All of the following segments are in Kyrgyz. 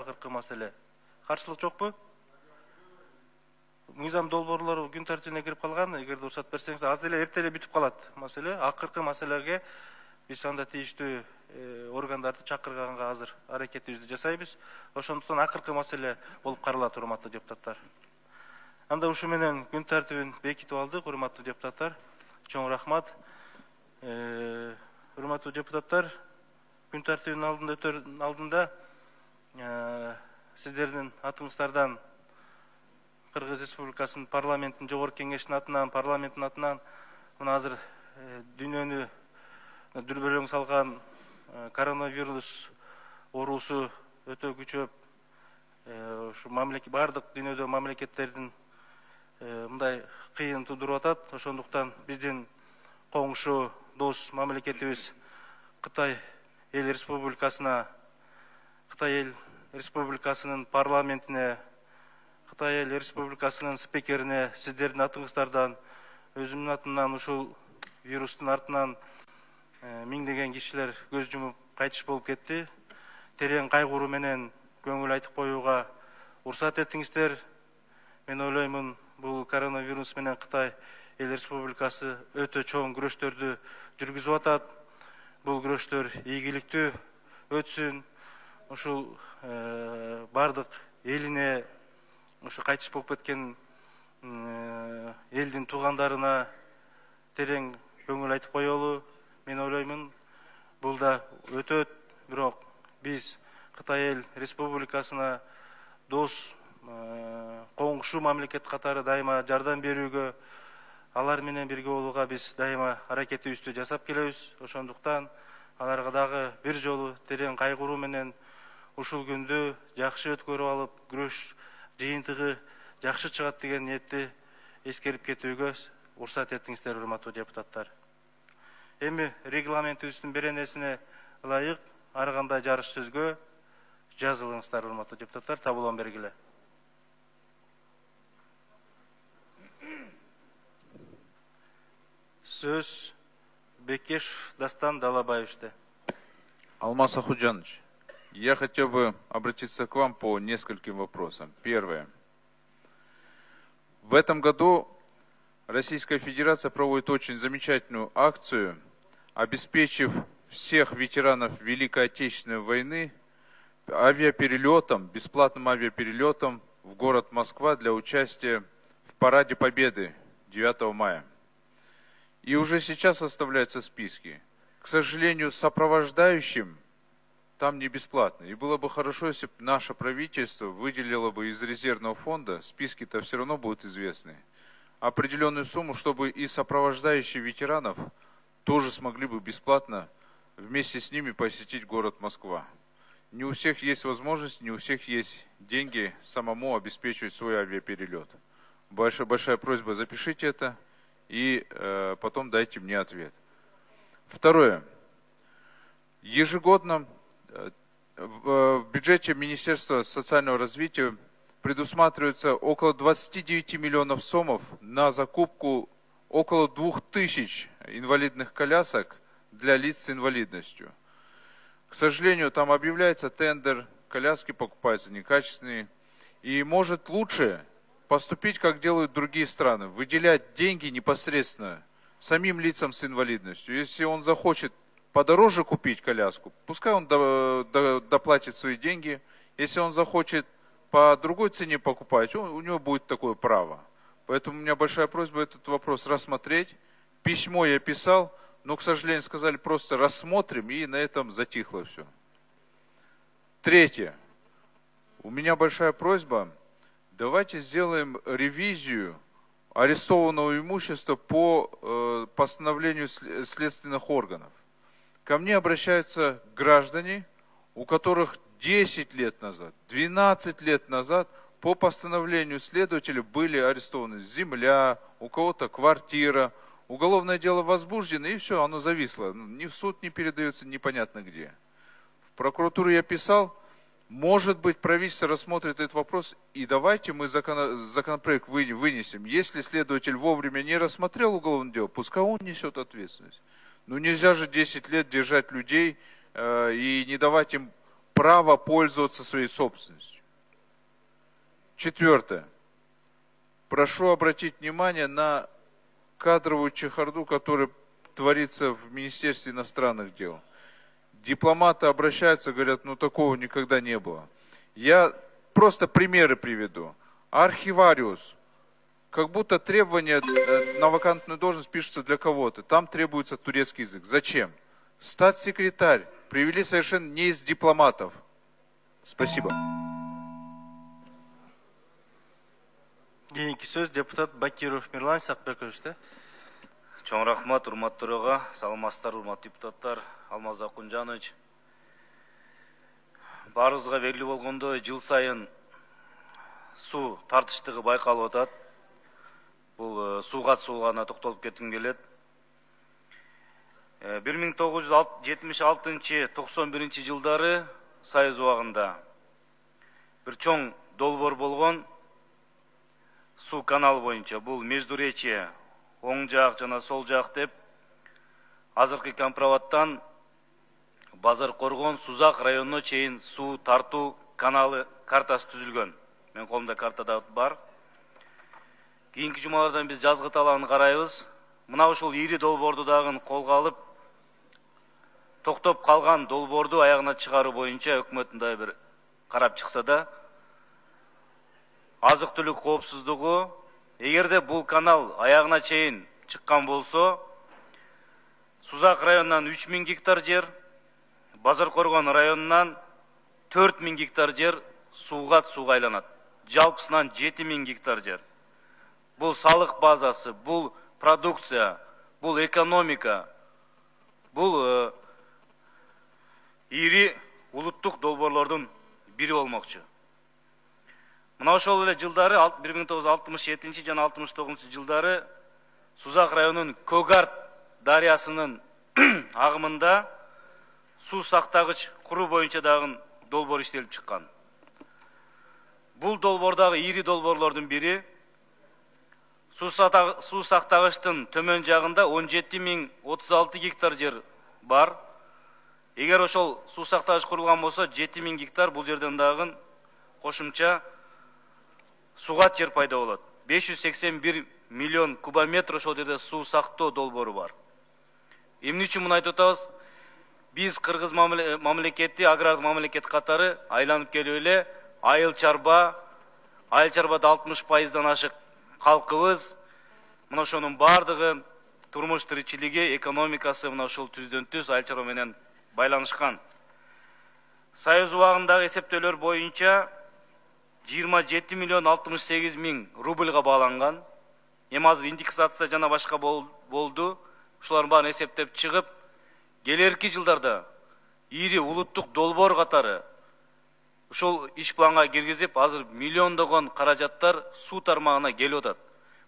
акыркы маселе. Каршылык жокпу? Мыйзам долбоорлору күн тартибине кирип калган. Эгерде уруксат берсеңиз, аз эле эрте эле бүтүп калат маселе. Акыркы маселеге биз анда тийиштүү органдарды чакырганга азыр аракетибизди жасайбыз. Ошондуктан акыркы маселе болуп каралат, урматтуу депутаттар. Анда ушу менен күн тартибин бекитип алдык, урматтуу депутаттар. Чоң рахмат. Урматтуу депутаттар, күн тартибинин алдында сиздердин атыңыздардан Кыргыз Республикасынын парламенттин жогорку кеңешинин атынан, парламенттин атынан мына азыр дүйнөнү дүрбөлөң салган коронавирус оорусу өтө күчөп, ушу бардык дүйнөдө мамлекеттердин мындай кыйын тудуруп атат. Ошондуктан биздин коңшу дос мамлекетибиз Кытай эл республикасына, Кытай эл республикасынын парламентине, Кытай эл республикасынын спикерине сиздердин атыңыздардан, өзүмдүн атымдан ушул вирустун артынан миңдеген кишилер көз жумуп кайтыш болуп кетти. Терең кайгыруу менен көңүл айтып коюуга уруксат этиңиздер. Мен ойлоймун, бул коронавирус менен Кытай эл республикасы өтө чоң күрөштөрдү жүргүзүп атат. Бул күрөштөр ийгиликтүү өтсүн. Ушул бардык элине, ушу кайтыш болуп кеткен элдин туугандарына терең көңүл айтып коелу. Мен ойлоймун, бул да өтөт, бирок биз Кытай эл республикасына дос, коңшу мамлекет катары дайыма жардам берүүгө, алар менен бирге болууга биз дайыма аракетибизди жасап келебиз. Ошондуктан аларга дагы бир жолу терең кайгыруу менен ушул күндү жакшы өткөрүп алып, күрөш жыйынтыгы жакшы чыгат деген ниетти эскерип кетүүгө уруксат этиңиздер, урматтуу депутаттар. Эми регламентибиздин беренесине ылайык ар кандай жарыш сөзгө жазылыңыздар, урматтуу депутаттар. Табылган бергиле. Сөз Бекешев Дастан Далабаевичте. Алмаз Ахуджанович, я хотел бы обратиться к вам по нескольким вопросам. Первое. В этом году Российская Федерация проводит очень замечательную акцию, обеспечив всех ветеранов Великой Отечественной войны авиаперелетом, бесплатным авиаперелетом в город Москва для участия в Параде Победы 9 мая. И уже сейчас составляются списки. К сожалению, сопровождающим там не бесплатно. И было бы хорошо, если бы наше правительство выделило бы из резервного фонда, списки-то все равно будут известны, определенную сумму, чтобы и сопровождающие ветеранов тоже смогли бы бесплатно вместе с ними посетить город Москва. Не у всех есть возможность, не у всех есть деньги самому обеспечивать свой авиаперелет. Большая просьба, запишите это и потом дайте мне ответ. Второе. Ежегодно в бюджете Министерства социального развития предусматривается около 29 миллионов сомов на закупку около 2000 инвалидных колясок для лиц с инвалидностью. К сожалению, там объявляется тендер, коляски покупаются некачественные. И может лучше поступить, как делают другие страны, выделять деньги непосредственно самим лицам с инвалидностью. Если он захочет подороже купить коляску, пускай он доплатит свои деньги. Если он захочет по другой цене покупать, у него будет такое право. Поэтому у меня большая просьба этот вопрос рассмотреть. Письмо я писал, но, к сожалению, сказали просто рассмотрим, и на этом затихло все. Третье. У меня большая просьба, давайте сделаем ревизию арестованного имущества по постановлению следственных органов. Ко мне обращаются граждане, у которых 10 лет назад, 12 лет назад по постановлению следователя были арестованы земля, у кого-то квартира, уголовное дело возбуждено, и все, оно зависло. Ни в суд не передается, непонятно где. В прокуратуру я писал, может быть, правительство рассмотрит этот вопрос, и давайте мы законопроект вынесем. Если следователь вовремя не рассмотрел уголовное дело, пускай он несет ответственность. Ну нельзя же 10 лет держать людей и не давать им право пользоваться своей собственностью. Четвертое. Прошу обратить внимание на кадровую чехарду, которая творится в Министерстве иностранных дел. Дипломаты обращаются, говорят, ну такого никогда не было. Я просто примеры приведу. Архивариус. Как будто требования на вакантную должность пишутся для кого-то. Там требуется турецкий язык. Зачем? Статс-секретарь. Привели совершенно не из дипломатов. Спасибо. Кийинки сөз депутат Бакиров Мирлан Сакбекович. Чоң рахмат, урматтуу төрага, саламатсыздар, урматтуу депутаттар, Алмаз Акунжанович. Баарыбызга белгилүү болгондой, жыл сайын суу тартыштыгы байкалып атат. Бул сууга суугана токтолуп кетким келет. 1976-91 жылдары Союз убагында бир чоң долбоор болгон суу каналы боюнча. Бул Междуречье, оң жак жана сол жак деп азыркы Компроваттан Базар Коргон, Сузак районуна чейин суу тартуу каналы картасы түзүлгөн. Мен колумда картада бар. Кийинки жумалардан биз жазгы талабын карайбыз. Мына ушул ири долбоорду дагы колго алып, токтоп калган долбоорду аягына чыгаруу боюнча өкмөттүн да бир карап чыкса да, азык-түлүк коопсуздугу, эгерде бул канал аягына чейин чыккан болсо, Сузак районунан 3000 гектар жер, Базар Коргон районунан 4000 гектар жер сууга айланат. Жалпысынан 7000 гектар жер. Бул салык базасы, бул продукция, бул экономика, бул ири улуттук долбоорлордун бири болмокчу. Мына ошол эле жылдары 1967 жана 69 жылдары Сузак районунун Көгарт дарыясынын агымында суу сактагыч куруу боюнча дагы долбоор иштелип чыккан. Бул долбоордагы ири долбоорлордун бири суу сактагычтын төмөн жагында 17036 гектар жер бар. Эгер ошол суу сактагыч курулган болсо, 7000 гектар бул жерден дагы кошумча суугат жер пайда болот. 581 миллион кубометр ошол жерде суу сактоо долбоору бар. Эмне үчүн муну айтып атабыз? Биз Кыргыз мамлекети, агрардык мамлекет катары айланып келип эле айыл чарбада 60%дан ашык калкыбыз. Мына ошонун бардыгы турмуш тиричилиги, экономикасы мына ушул түздөн түз айыл чарба менен байланышкан. Союз убагындагы эсептөөлөр боюнча 27 миллион 68 миң рубльга бааланган. Эми азыр индексация жана башка болду. Ушулардын баарын эсептеп чыгып, келерки жылдарда ири улуттук долбоор катары ушул иш планга киргизип, азыр миллиондогон каражаттар суу тармагына келип атат.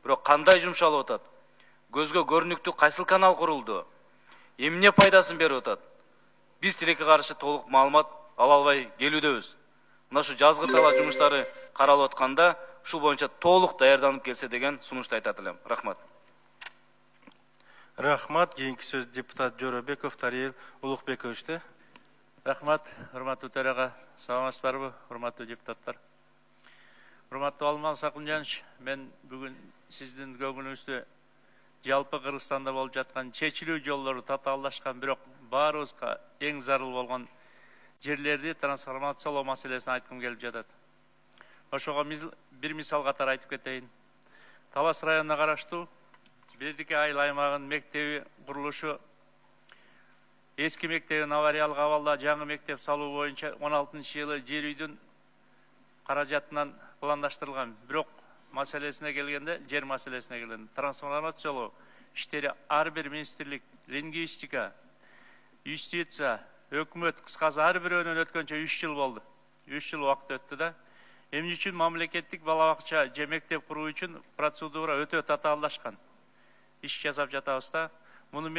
Бирок кандай жумшалып атат? Көзгө көрүнүктүү кайсыл канал курулду? Эмне пайдасын берип атат? Биз тилекке каршы толук маалымат ала албай келүүдөбүз. Мына ушу жазгы талаа жумуштары каралып атканда, ушул боюнча толук даярданып келсе деген сунушту айтат элем. Рахмат. Рахмат. Кийинки сөз депутат Жоробеков Тариел Улукбековичте. Рахмат, урматтуу төрага, саламатсыздарбы, урматтуу депутаттар. Урматтуу Алмаз Акунжанович, мен бүгүн сиздин көңүлүңүздө жалпы Кыргызстанда болуп жаткан чечилүү жолдору татаалдашкан, бирок баарыбызга эң зарыл болгон жерлерди трансформациялоо маселесин айткым келип жатат. Ошого бир мисал катары айтып кетейин. Талас районуна караштуу Бердике айыл аймагынын мектеби курулушу, эски мектебин авариялык абалда жаңы мектеп салуу боюнча 16-жылы жер үйдүн каражатынан пландаштырылган. Бирок маселесине келгенде, жер маселесине келгенде трансформациялоо иштери ар бир министрлик, лингвистика, юстиция, өкмөт кыскасы ар бирөөнөн өткөнчө 3 жыл болду. 3 жыл убакыт өттү да. Эмне үчүн мамлекеттик бала бакча же мектеп куруу үчүн процедура өтө татаалдашкан. Иш жасап жатабыз да. Муну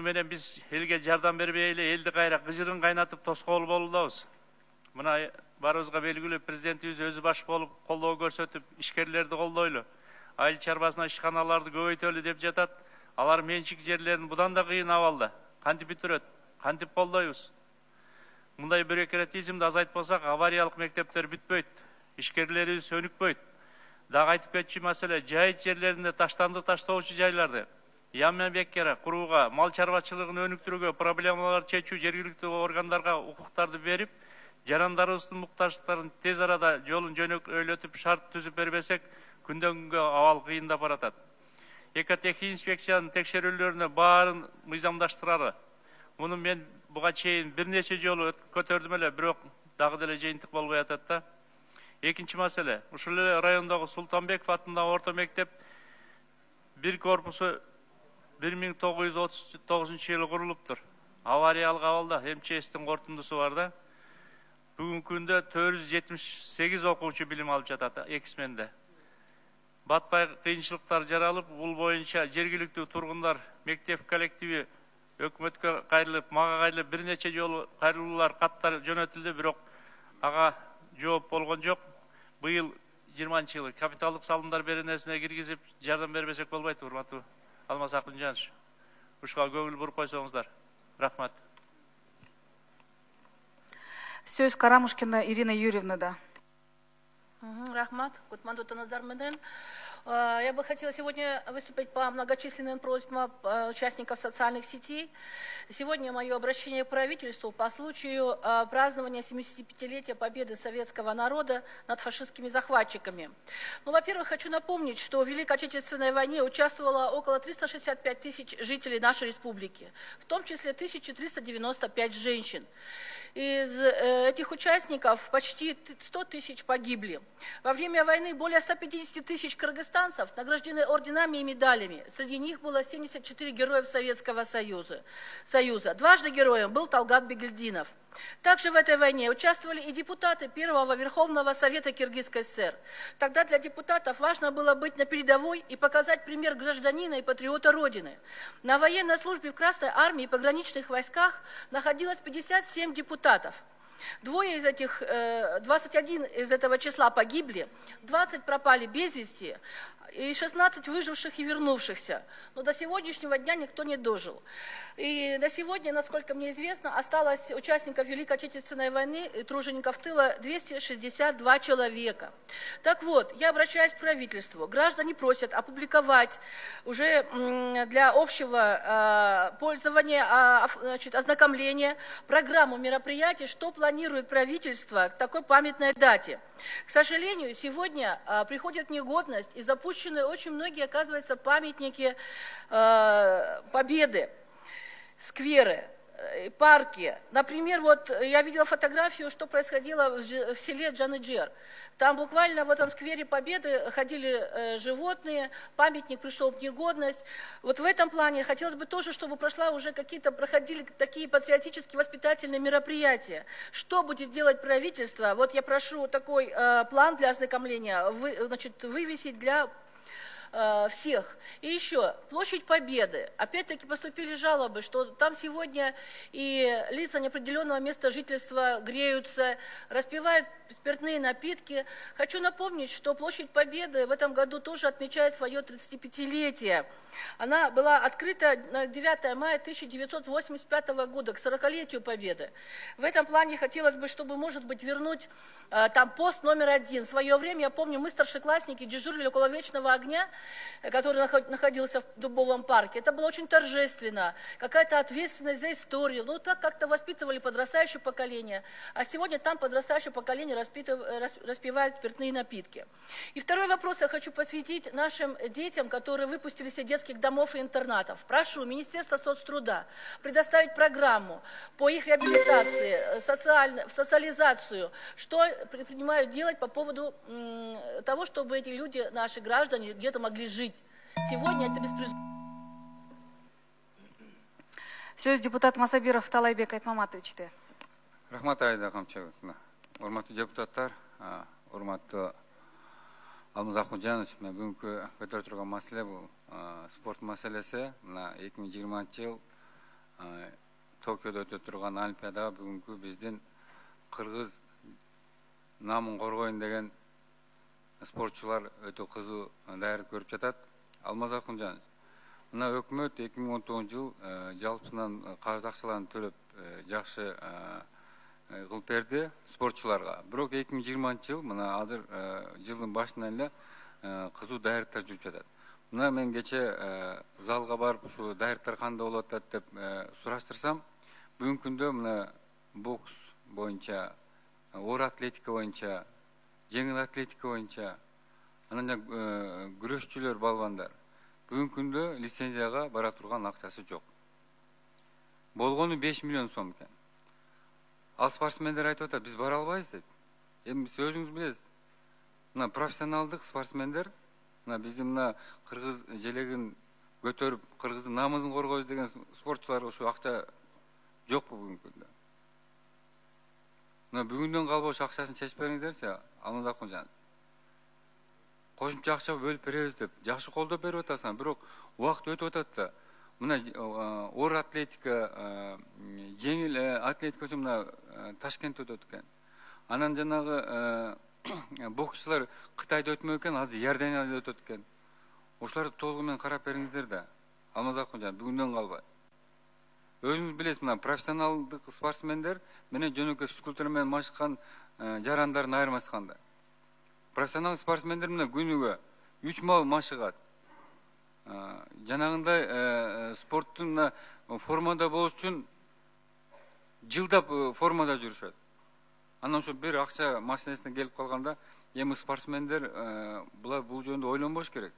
менен биз элге жардам бербей эле элди кайра кыжырын кайнатып тоскоол болудабыз. Мына баарыбызга белгилүү, президентибиз өзү баш болуп колдоо көрсөтүп, ишкерлерди колдойлу, айыл чарбасына ишканаларды көбөйтөлү деп жатат. Алар менчик жерлерин будан да кыйын абалда. Кантип бүтүрөт? Кантип колдойбуз? мындай бюрократизмди азайтпасак, авариялык мектептер бүтпөйт, ишкерлерибиз өнүкпөйт. Дагы айтып кетчү маселе, жайыт жерлеринде таштанды таштоочу жайларды яма беккера курууга, мал чарбачылыгын өнүктүрүүгө, проблемаларды чечүү, жергиликтүү органдарга укуктарды берип, жарандарыбыздын муктаждыктарын тез арада жолун жөнөкөйлөтүп, шарт түзүп бербесек, күндөн күнгө абал кыйындап баратат. Экотехник инспекциянын текшерүүлөрүнө баарын мыйзамдаштырары. Муну мен буга чейин бир нече жолу көтөрдүм эле, бирок дагы деле жыйынтык болбой атат да. Экинчи маселе, ушул эле райондогу Султанбеков атындагы орто мектеп бир корпусу 1939-жылы курулуптур. Авариялык абалда, МЧСтин кортундусу бар да. Бүгүнкү күндө 478 окуучу билим алып жатат эки сменде. Батпай кыйынчылыктар жаралып, бул боюнча жергиликтүү тургундар, мектеп коллективи өкмөткө кайрылып, мага кайрылып бир нече жолу кайрылуулар, каттар жөнөтүлдү, бирок ага жооп болгон жок. Быйыл 20-жылы капиталдык салымдар беренесине киргизип, жардам бербесек болбойт, урматтуу Алмаз Акынжанович. Ушуга көңүл буруп койсоңуздар. Рахмат. Сөз Карамушкина Ирина Юрьевна. Рахмат, Кутмандутаназар Меден. Я бы хотела сегодня выступить по многочисленным просьбам участников социальных сетей. Сегодня мое обращение к правительству по случаю празднования 75-летия победы советского народа над фашистскими захватчиками. Ну, во-первых, хочу напомнить, что в Великой Отечественной войне участвовало около 365 тысяч жителей нашей республики, в том числе 1395 женщин. Из этих участников почти 100 тысяч погибли. Во время войны более 150 тысяч кыргызстанцев награждены орденами и медалями. Среди них было 74 героев Советского Союза. Дважды героем был Талгат Бегельдинов. Также в этой войне участвовали и депутаты Первого Верховного Совета Киргизской ССР. Тогда для депутатов важно было быть на передовой и показать пример гражданина и патриота Родины. На военной службе в Красной армии и пограничных войсках находилось 57 депутатов. 21 из этого числа погибли, 20 пропали без вести, и 16 выживших и вернувшихся. Но до сегодняшнего дня никто не дожил. И до сегодня, насколько мне известно, осталось участников Великой Отечественной войны и тружеников тыла 262 человека. Так вот, я обращаюсь к правительству. Граждане просят опубликовать уже для общего пользования, ознакомления программу мероприятий, что планирует правительство к такой памятной дате. К сожалению, сегодня приходит в негодность и запущены очень многие, оказывается, памятники Победы, скверы, парки. Например, вот я видела фотографию, что происходило в селе Джаныджер. Там буквально в этом сквере Победы ходили животные, памятник пришел в негодность. Вот в этом плане хотелось бы тоже, чтобы проходили такие патриотические воспитательные мероприятия. Что будет делать правительство? Вот я прошу такой план для ознакомления вывесить для всех. И еще, площадь Победы. Опять-таки поступили жалобы, что там сегодня и лица неопределенного места жительства греются, распивают спиртные напитки. Хочу напомнить, что площадь Победы в этом году тоже отмечает свое 35-летие. Она была открыта на 9 мая 1985 года, к 40-летию Победы. В этом плане хотелось бы, чтобы, может быть, вернуть там пост номер 1. В свое время, я помню, мы, старшеклассники, дежурили около Вечного огня, который находился в Дубовом парке. Это было очень торжественно, какая-то ответственность за историю. Ну, так как-то воспитывали подрастающее поколение. А сегодня там подрастающее поколение распивает спиртные напитки. И второй вопрос я хочу посвятить нашим детям, которые выпустились из детских домов и интернатов. Прошу Министерство соцтруда предоставить программу по их реабилитации, социализацию, что предпринимают делать по поводу того, чтобы эти люди, наши граждане, где-то могли жить. Сегодня это беспризорно. Сөз депутат Масабиров Талайбек Айтмаматовичте. Рахмат Айда Камчагына. Урматтуу депутаттар, урматтуу Алмаз Акынжанович, мен бүгүнкү көтөрүп турган маселе бул спорт маселеси. Мына 2020 жыл Токиодо өтө турган Олимпиадага бүгүнкү биздин кыргыз намын коргоюн деген спортчулар өтө кызуу даярдык көрүп жатат. Алмаз Акынжанович, мына өкмөт 2019 жыл жалпысынан карыз акчаларын төлөп жакшы кылып берди спортчуларга. Бирок 2020 жыл мына азыр жылдын башынан эле кызуу даярдыктар жүрүп жатат. Мына мен кече залга барып ушул даярдыктар кандай болуп атат деп сураштырсам, бүгүнкү күндө мына бокс боюнча, оор атлетика боюнча, жеңил атлетика боюнча, анан күрөшчүлөр, балбандар бүгүнкү күндө лицензияга бара турган акчасы жок. Болгону 5 миллион сом экен. Ал спортсмендер айтып атат, биз бара албайбыз деп. Эми сиз өзүңүз билесиз. Мына профессионалдык спортсмендер, мына биздин мына кыргыз желегин көтөрүп, кыргыздын намысын коргойбуз деген спортчулар ушу акча жокпу бүгүнкү күндө. Мына бүгүндөн калбош акчасын чечип бериңиздерчи, Алмаз Акунжанов. Кошумча акча бөлүп беребиз деп жакшы колдоп берип атасың, бирок убакыт өтүп атат да. Мына оор атлетика, жеңил атлетика үчүн мына Ташкентте өтөт экен. Анан жанагы боксчулар Кытайда өтмөк экен, азыр Иорданияда өтөт экен. Ошолорду толугу менен карап бериңиздер да. Алмаз Акунжан бүгүндөн калбай. Өзүңүз билесиз, мына профессионалдык спортсмендер менен жөнөкөй физкультура менен машыккан жарандардын айырмасы кандай. Профессионал спортсмендер мына күнүгө 3 мал машыгат. Жанагындай спорттун формада болуш үчүн жылдап формада жүрүшөт. Анан ошо бир акча маселесине келип калганда, эми спортсмендер бул жөнүндө ойлонбош керек.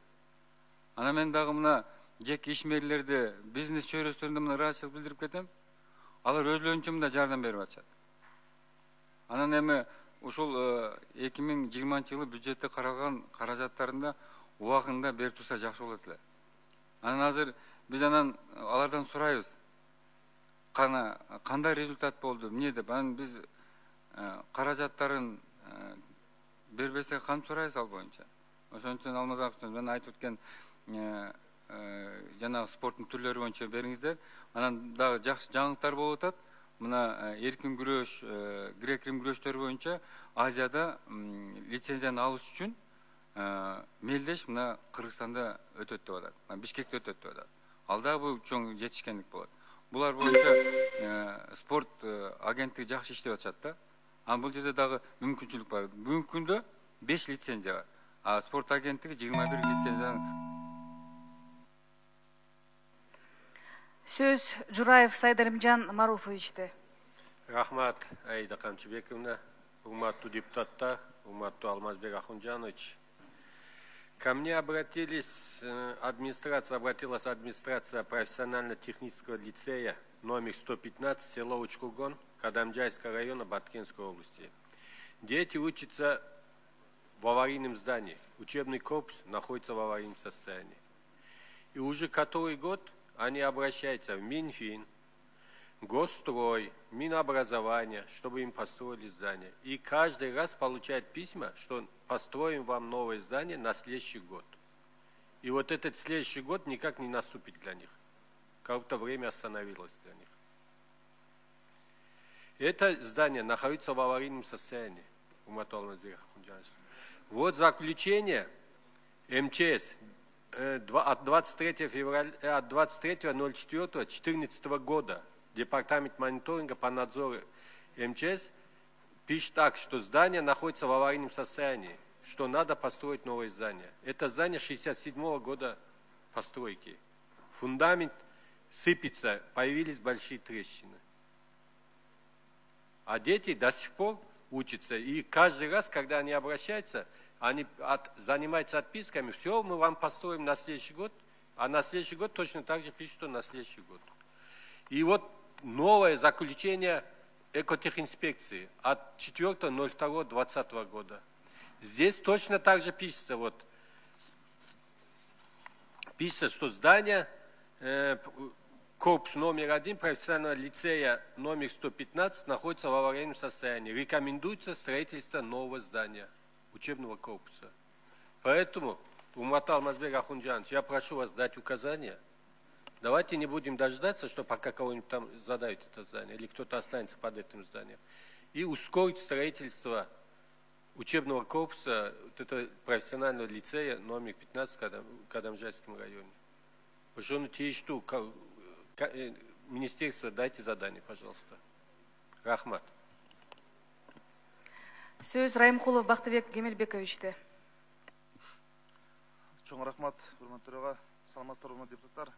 Анан мен дагы мына жеке ишмерлерди, бизнес чөйрөсүндө мына ыраазычылык билдирип кетем. Алар өзлөрүнчө мында жардам берип атышат. Анан эми ушул 2020 жылы бюджетте каралган каражаттарында убагында берип турса жакшы болот эле. Анан азыр биз алардан сурайбыз. Кандай результат болду, эмне деп. Анан биз каражаттарын бербесе кантип сурайбыз ал боюнча. Ошон үчүн Алмаз Акунжанов мен айтып өткөн жанагы спорттун түрлөрү боюнча бериңиздер. Анан дагы жакшы жаңылыктар болуп атат. Мына эркин күрөш, грек-рим күрөштөрү боюнча Азияда лицензияны алыш үчүн мелдеш мына Кыргызстанда өтөт деп атат. Бишкекте өтөт деп атат. Ал дагы бул чоң жетишкендик болот. Булар боюнча спорт агенттиги жакшы иштеп атышат да. Бул жерде дагы мүмкүнчүлүк бар. Бүгүнкү күндө 5 лицензия бар. А спорт агенттиги 21 лицензияны. Сөз Жураев Сайдарымжан Маруфовичте. Рахмат, Аида Камчыбековна, урматтуу депутаттар, урматтуу Алмазбек Ахунжанович. Ко мне обратилась администрация профессионально-технического лицея номер 115, село Учкургон, Кадамджайского района Баткенской области. Дети учатся в аварийном здании. Учебный корпус находится в аварийном состоянии. И уже который год они обращаются в Минфин, Госстрой, Минобразование, чтобы им построили здание. И каждый раз получают письма, что построим вам новое здание на следующий год. И вот этот следующий год никак не наступит для них. Как будто время остановилось для них. Это здание находится в аварийном состоянии. Вот заключение МЧС от 23.04.2014 года. Департамент мониторинга по надзору МЧС пишет так, что здание находится в аварийном состоянии, что надо построить новое здание. Это здание 1967 года постройки. Фундамент сыпется, появились большие трещины. А дети до сих пор учатся. И каждый раз, когда они обращаются, они занимаются отписками. Все, мы вам построим на следующий год. А на следующий год точно так же пишут, что на следующий год. И вот новое заключение экотехинспекции от 4.02.2020 года. Здесь точно так же пишется, пишется, что здание, корпус номер 1 профессионального лицея номер 115 находится в аварийном состоянии. Рекомендуется строительство нового здания, учебного корпуса. Поэтому, Уматал Алмазбек Ахунжанович, я прошу вас дать указания. Давайте не будем дождаться, что пока кого-нибудь там задают это здание, или кто-то останется под этим зданием. И ускорить строительство учебного корпуса это профессионального лицея номер 15 в Кадамжайском районе. Министерство, дайте задание, пожалуйста. Рахмат. Сөз Райымкулов Бактыбек Кемелбековичте. Чоң рахмат, урматтуу төраға, саламатсыздар, урматтуу депутаттар.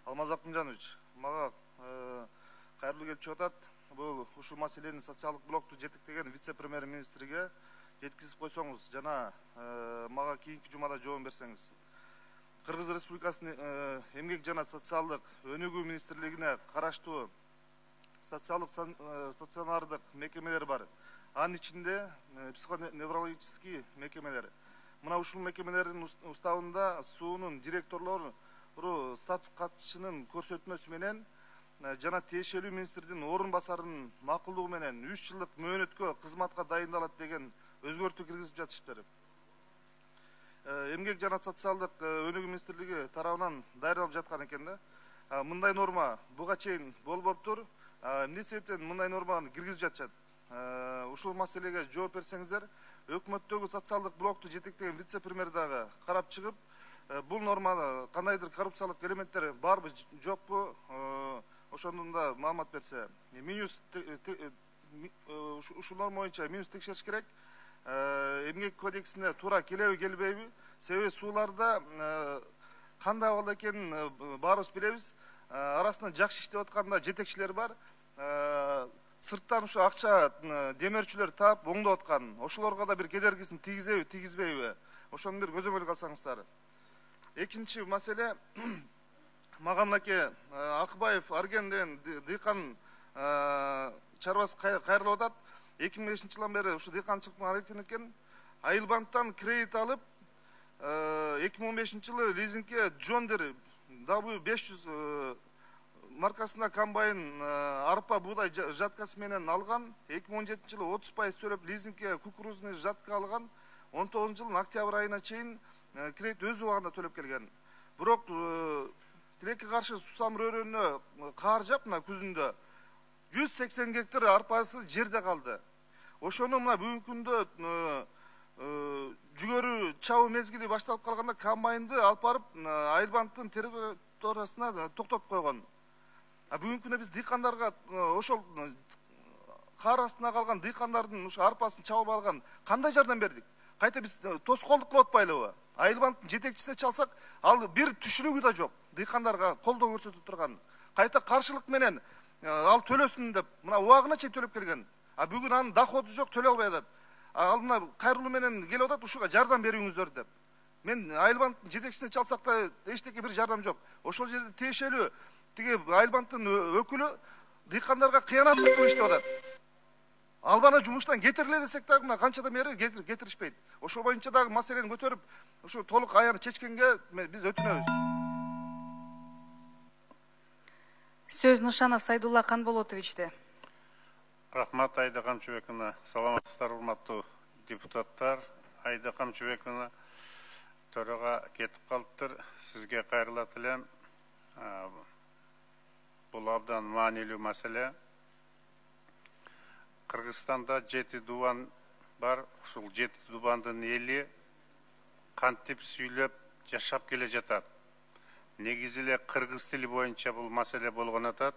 Алмаз Акмыжанович, мага кайрылуу келип чыгып атат. Бул ушул маселени социалдык блокту жетектеген вице-премьер-министрге жеткизип койсоңуз жана мага кийинки жумада жооп берсеңиз. Кыргыз Республикасынын эмгек жана социалдык өнүгүү министрлигине караштуу социалдык стационардык мекемелер бар. Анын ичинде психоневрологический мекемелер. Мына ушул мекемелердин уставында суунун директорлору статус катчынын көрсөтмөсү менен жана тиешелүү министрдин орун басарынын макулдугу менен 3 жылдык мөөнөткө кызматка дайындалат деген өзгөртүү киргизип жатышыптыр. Эмгек жана социалдык өнүгүү министрлиги тарабынан даярдалып жаткан экен да. Мындай норма буга чейин болбоптур. Эмне себептен мындай норманы киргизип жатышат? Ушул маселеге жооп берсеңиздер, өкмөттөгү социалдык блокту жетектеген вице-премьер дагы карап чыгып, бул нормада кандайдыр коррупциялык элементтер барбы, жокпу, ошондон да маалымат берсе. Ушул норма боюнча минус текшериш керек. Эмгек кодексине туура келеби, келбейби? Себеби сууларда кандай абалда экенин баарыбыз билебиз. Арасында жакшы иштеп атканда жетекчилер бар. Сырттан ушу акча демерчүлөр таап оңдоп аткан. Ошолорго да бир кедергисин тийгизеби, тийгизбейби? Ошону бир көзөмөлгө алсаңыздар. Экинчи маселе, мага мынакей Акыбаев Арген деген дыйкан чарбасы кайрылып атат. 2005-жылдан бери ушу дыйканчылык менен аракеттенет экен. Айылбанктан кредит алып, 2015-жылы лизингке Джондер W500 маркасында комбайн арпа буудай жаткасы менен алган. 2017-жылы 30% төлөп лизингке кукурузный жатка алган. 19-жылдын октябрь айына чейин кредит өз убагында төлөп келген. Бирок тилекке каршы сусам рөөрөнүнө каар жаап мына күзүндө 180 гектар арпасы жерде калды. Ошону мына бүгүнкү күндө жүгөрү чабуу мезгили башталып калганда комбайнды алып барып Айылбанктын территориясына токтотуп койгон. Бүгүнкү күндө биз дыйкандарга ошол каар астына калган дыйкандардын ушу арпасын чабып алган кандай жардам бердик? Кайта биз тоскоолдук кылып атпайлыбы? Айылбанктын жетекчисине чалсак, ал бир түшүнүгү да жок. Дыйкандарга колдоо көрсөтүп турган. Кайта каршылык менен ал төлөсүн деп мына убагына чейин төлөп келген. Бүгүн анын доходу жок, төлөй албай атат. Ал мына кайрылуу менен келип атат, ушуга жардам бериңиздер деп. Мен Айылбанктын жетекчисине чалсак да эчтеке бир жардам жок. Ошол жерде тиешелүү тиги Айылбанктын өкүлү дыйкандарга кыянаттык кылып иштеп атат. Албаны жумуштан кетириле десек дагы мына канчадан бери кетиришпейт. Ошол боюнча дагы маселени көтөрүп, ушу толук аяны чечкенге биз өтүнөбүз. Сөз Нышанов Сайдулла Канболотовичте. Рахмат, Айда Камчыбековна. Саламатсыздар, урматтуу депутаттар. Айда Камчыбековна төрага кетип калыптыр. Сизге кайрылат элем. Бул абдан маанилүү маселе. Кыргызстанда 7 дубан бар. Ушул 7 дубандын эли кантип сүйлөп жашап келе жатат. Негизи эле кыргыз тили боюнча бул маселе болгон атат.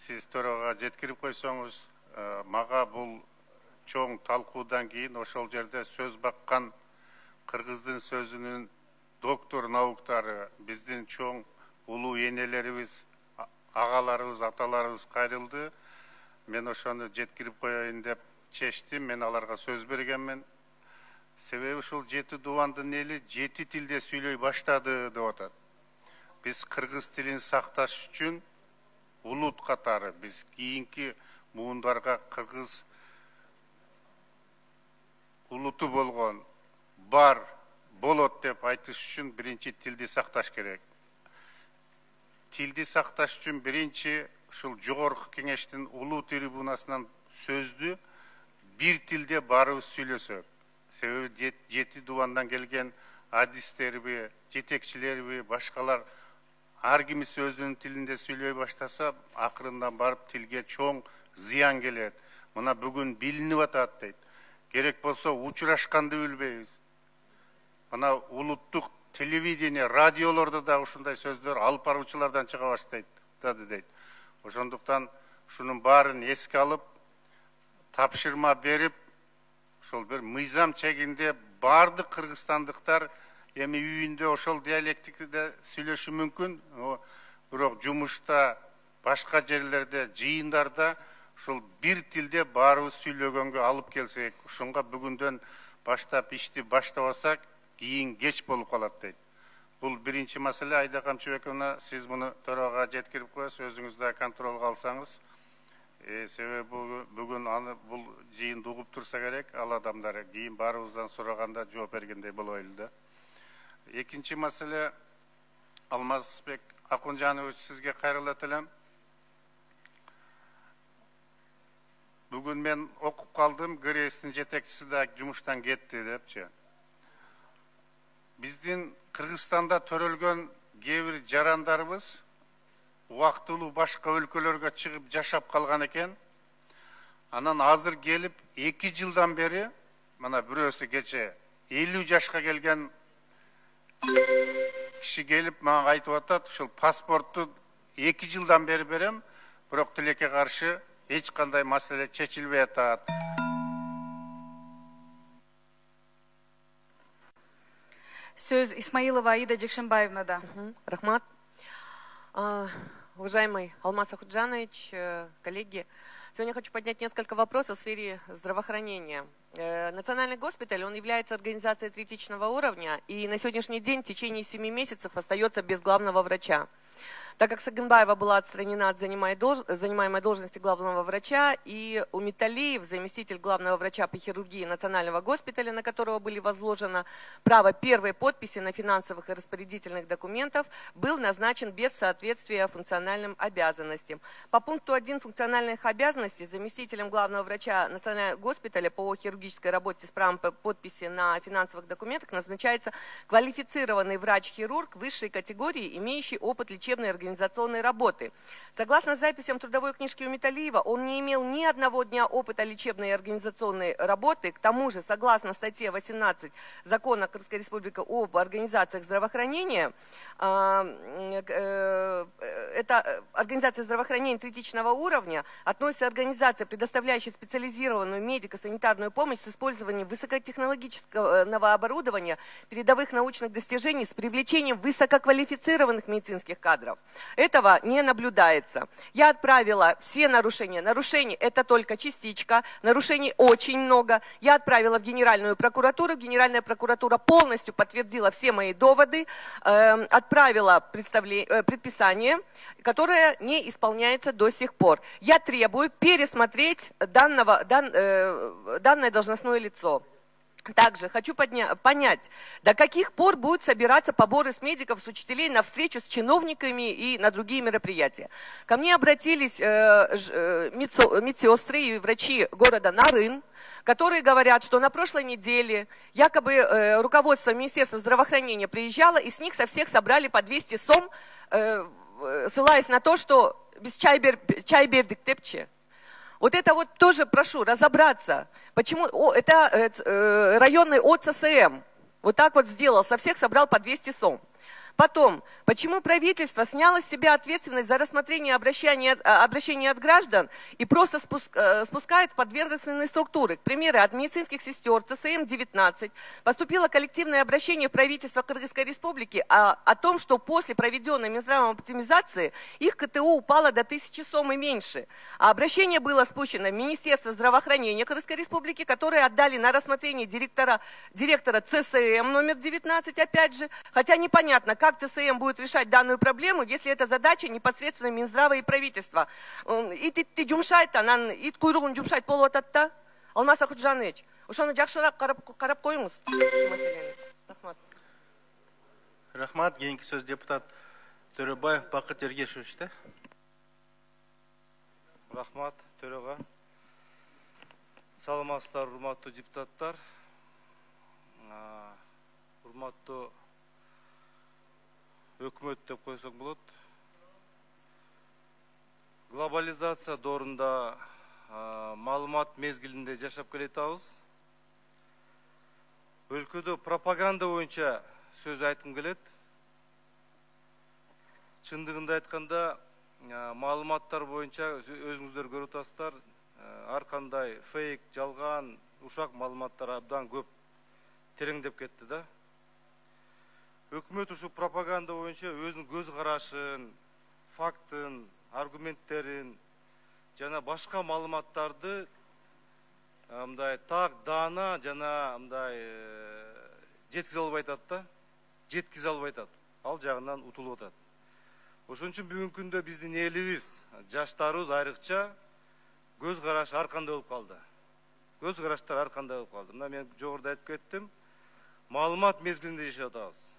Сиз төрага жеткирип койсоңуз, мага бул чоң талкуудан кийин ошол жерде сөз баккан кыргыздын сөзүнүн доктор науктары, биздин чоң улуу энелерибиз, агаларыбыз, аталарыбыз кайрылды. Мен ошону жеткирип коеюн деп чечтим. Мен аларга сөз бергенмин. Себеби ушул 7 дубандын эли 7 тилде сүйлөй баштады деп атат. Биз кыргыз тилин сакташ үчүн улут катары биз кийинки муундарга кыргыз улуту болгон бар болот деп айтыш үчүн биринчи тилди сакташ керек. Тилди сакташ үчүн биринчи ушул жогорку кеңештин улуу трибунасынан сөздү бир тилде барыбыз сүйлөсөк. Себеби 7 дубандан келген адистерби, жетекчилерби, башкалар ар кимис өзүнүн тилинде сүйлөй баштаса, акырындан барып тилге чоң зыян келет. Мына бүгүн билинип атат дейт. Керек болсо учурашканды билбейбиз. Мына улуттук телевидение, радиолордо да ушундай сөздөр алып баруучулардан чыга баштайт дейт. Ошондуктан ушунун баарын эске алып, тапшырма берип, ошол бир мыйзам чегинде бардык кыргызстандыктар эми үйүндө ошол диалектикте сүйлөшү мүмкүн, бирок жумушта, башка жерлерде, жыйындарда ошол бир тилде баарыбыз сүйлөгөнгө алып келсек, ушунга бүгүндөн баштап ишти баштабасак, кийин кеч болуп калат дейт. Бул биринчи маселе. Айда Камчыбековна, сиз муну төрага жеткирип коесуз, өзүңүз да контролго алсаңыз. Себеби бүгүн аны бул жыйынды угуп турса керек, ал адамдар кийин баарыбыздан сураганда жооп бергендей болойлу да. Экинчи маселе, Алмазбек Акунжанович, сизге кайрылат элем. Бүгүн мен окуп калдым, ГРС'тин жетекчиси да жумуштан кетти депчи. Биздин Кыргызстанда төрөлгөн кээ бир жарандарыбыз убактылуу башка өлкөлөргө чыгып жашап калган экен. Анан азыр келип 2 жылдан бери, мына бирөөсү кече 50 жашка келген киши келип мага айтып атат, ушул паспортту 2 жылдан бери берем, бирок тилекке каршы эч кандай маселе чечилбей атат. Сөз Исмаилова Аида Жекшенбаевнада. Рахмат. Уважаемый Алмаз Ахуджанович, коллеги, сегодня хочу поднять несколько вопросов в сфере здравоохранения. Национальный госпиталь, он является организацией критичного уровня и на сегодняшний день в течение 7 месяцев остается без главного врача. Так как Сагынбаева была отстранена от занимаемой должности главного врача, и Умиталиев, заместитель главного врача по хирургии Национального госпиталя, на которого были возложено право первой подписи на финансовых и распорядительных документов, был назначен без соответствия функциональным обязанностям. По пункту 1 функциональных обязанностей заместителем главного врача Национального госпиталя по хирургической работе с правом подписи на финансовых документах назначается квалифицированный врач-хирург высшей категории, имеющий опыт лечебной организационной работы. Согласно записям трудовой книжки Умиталиева, он не имел ни одного дня опыта лечебной и организационной работы. К тому же, согласно статье 18 Закона Кыргызской Республики об организациях здравоохранения, это организация здравоохранения критичного уровня относится организация, предоставляющая специализированную медико-санитарную помощь с использованием высокотехнологического оборудования, передовых научных достижений с привлечением высококвалифицированных медицинских кадров. Этого не наблюдается. Я отправила все нарушения. Нарушений это только частичка, нарушений очень много. Я отправила в Генеральную прокуратуру. Генеральная прокуратура полностью подтвердила все мои доводы, отправила предписание, которое не исполняется до сих пор. Я требую пересмотреть данное должностное лицо. Также хочу понять, до каких пор будут собираться поборы с медиков, с учителей на встречу с чиновниками и на другие мероприятия. Ко мне обратились медсестры и врачи города Нарын, которые говорят, что на прошлой неделе якобы руководство Министерства здравоохранения приезжало, и с них со всех собрали по 200 сом, ссылаясь на то, что без чайбердик тепче. Вот это вот тоже прошу разобраться, почему это районный ОЦСМ вот так вот сделал, со всех собрал по 200 сом. Потом, почему правительство сняло с себя ответственность за рассмотрение обращений от граждан и просто спускает в подведомственные структуры? К примеру, от медицинских сестер ЦСМ-19 поступило коллективное обращение в правительство Кыргызской Республики о том, что после проведенной Минздравом оптимизации их КТУ упало до 1000 сом и меньше. А обращение было спущено в Министерство здравоохранения Кыргызской Республики, которые отдали на рассмотрение директора ЦСМ номер 19, опять же, хотя непонятно, как ЦСМ будет решать данную проблему, если это задача непосредственно Минздрава и правительства. И ты жумшайт, анан ит куйругун жумшайт болуп атат. Алмаз Ахуджанович, ошону жакшыраак карап коюңуз ушу маселени. Рахмат. Рахмат. Кийинки сөз депутат Төрөбаев Бакыт Ергешевич. Рахмат, төрага. Саламатсыздар, урматтуу депутаттар. Урматтуу өкмөт деп койсок болот. Глобализация доорунда маалымат мезгилинде жашап келатабыз. Өлкөдө пропаганда боюнча сөз айткым келет. Чындыгында айтканда, маалыматтар боюнча өзүңүздөр көрүп атасыздар, ар кандай фейк, жалган ушак маалыматтар абдан көп тереңдеп кетти да. Өкмөт ушу пропаганда боюнча өзүнүн көз карашын, фактын, аргументтерин жана башка маалыматтарды мындай так даана жана мындай жеткизе албай атат да. Жеткизе албай атат. Ал жагынан утулуп атат. Ошон үчүн бүгүнкү күндө биздин элибиз, жаштарыбыз айрыкча көз карашы ар кандай болуп калды. Көз караштар ар кандай болуп калды. Мына мен жогоруда айтып кеттим. Маалымат мезгилинде жашап атабыз.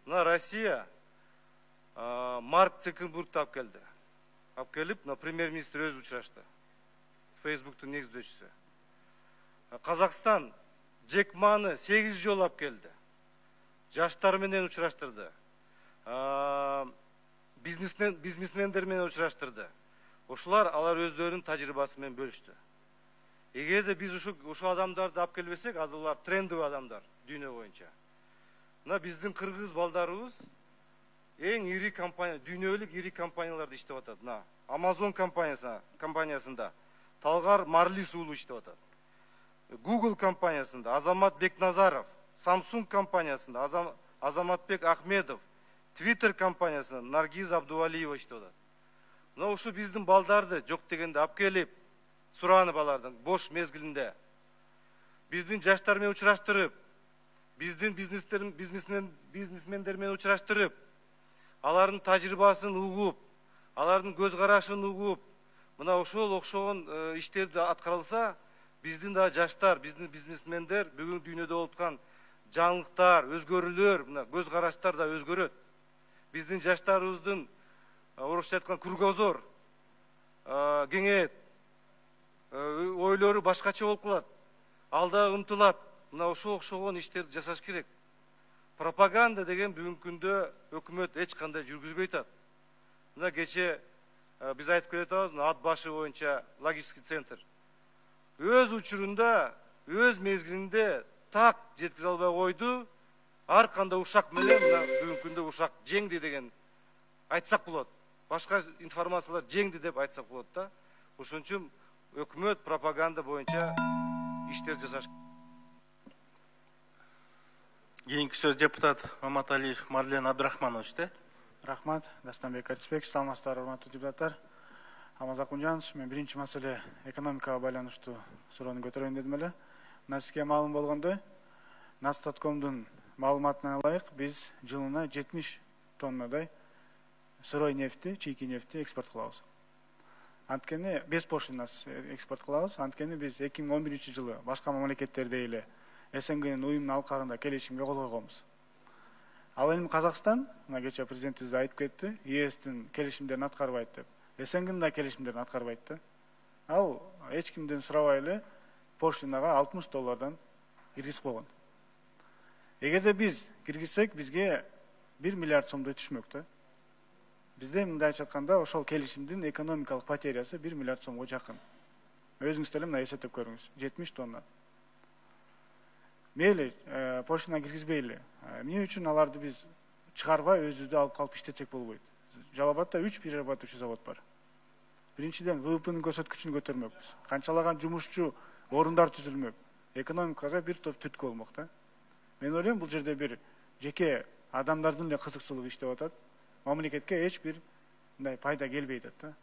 Мына Россия Марк Цукербергди алып келди. Алып келип, мына премьер-министр өзү учурашты. Фейсбуктун негиздөөчүсү. Казакстан Джек Маны 8 жолу алып келди. Жаштар менен учураштырды. Бизнесмендер менен учураштырды. Ошолар алар өздөрүнүн тажрыйбасы менен бөлүштү. Эгерде биз ушул адамдарды алып келбесек, азыр алар трендовый адамдар дүйнө боюнча. Мына биздин кыргыз балдарыбыз эң ири компания, дүйнөлүк ири компанияларда иштеп атат. Мына Amazon компаниясында Талгар Марлис уулу иштеп атат. Google компаниясында Азамат Бекназаров, Samsung компаниясында Азаматбек Ахмедов, Twitter компаниясында Наргиз Абдувалиева иштеп атат. Мына ушу биздин балдарды жок дегенде алып келип, суранып алардын бош мезгилинде биздин жаштар менен учураштырып, биздин бизнесмендер менен учураштырып, алардын тажрыйбасын угуп, алардын көз карашын угуп, мына ошол окшогон иштерди аткарылса, биздин да жаштар, биздин бизнесмендер бүгүн дүйнөдө болуп аткан жаңылыктар, өзгөрүүлөр, мына көз караштар да өзгөрөт. Биздин жаштарыбыздын орусча айткан кругозор кеңейет. Ойлору башкача болуп калат. Алда умтулат. Мына ошо окшогон иштерди жасаш керек. Пропаганда деген бүгүнкү күндө өкмөт эч кандай жүргүзбөй атат. Мына кече биз айтып келатабыз, ат башы боюнча логистик центр. Өз учурунда, өз мезгилинде так жеткизе албай койду. Ар кандай ушак менен мына бүгүнкү күндө ушак жеңди деген айтсак болот. Башка информациялар жеңди деп айтсак болот да. Ошон үчүн өкмөт пропаганда боюнча иштер жасаш. Кийинки сөз депутат Маматалиев Марлен Абдрахманович да. Рахмат, Дастанбек Арисбекович, саламатсыздар, урматтуу депутаттар. Алмаз Акунжанович, мен биринчи маселе экономикага байланыштуу суроону көтөрөйүн дедим эле. Мына сизге маалым болгондой, Настаткомдун маалыматына ылайык биз жылына 70 тоннадай сырой нефти, чийки нефти экспорт кылабыз. Анткени без пошлинасыз экспорт кылабыз. Анткени биз 2011 жылы башка мамлекеттердей эле СНГнын уюмунун алкагында келишимге кол койгонбуз. Ал эми Казакстан, мына кече президентибиз айтып кетти, ЕСтин келишимдерин аткарбайт деп. СНГнын да келишимдерин аткарбайт да. Ал эч кимден сурабай эле пошлинага $60 киргизип койгон. Эгерде биз киргизсек, бизге 1 миллиард сомдой түшмөк да. Бизде мындайча айтканда ошол келишимдин экономикалык потерясы 1 миллиард сомго жакын. Өзүңүз деле мына эсептеп көрүңүз, 70 тонна. Мейли, пошлина киргизбейли. Эмне үчүн аларды биз чыгарбай өзүбүздө алып калып иштетсек болбойт? Жалал Абадта 3 перерабатывающий завод бар. Биринчиден ВВПнын көрсөткүчүн көтөрмөкпүз. Канчалаган жумушчу орундар түзүлмөк. Экономикага бир топ түрткү болмок да. Мен ойлойм, бул жерде бир жеке адамдардын эле кызыкчылыгы иштеп атат. Мамлекетке эч бир мындай пайда келбей атат да.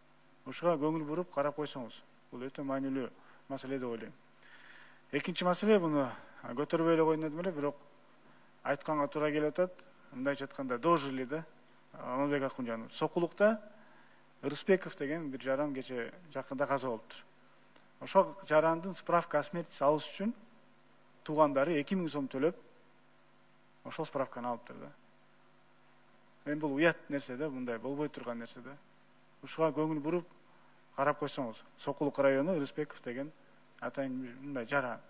Ушуга көңүл буруп карап койсоңуз, бул өтө маанилүү маселе деп ойлойм. Экинчи маселе, буну көтөрбөй эле койдум дедим эле, бирок айтканга туура келип атат. Мындайча айтканда дожили да. Алмазбек Акунжанов. Сокулукта Рыспеков деген бир жаран кече жакында каза болуптур. Ошол жарандын справка о смерти алыш үчүн туугандары 2000 сом төлөп, ошол справканы алыптыр да. Мен бул уят нерсе да, мындай болбой турган нерсе да. Ушуга көңүл буруп карап койсоңуз, Сокулук району Рыспеков деген атайын мындай жаран.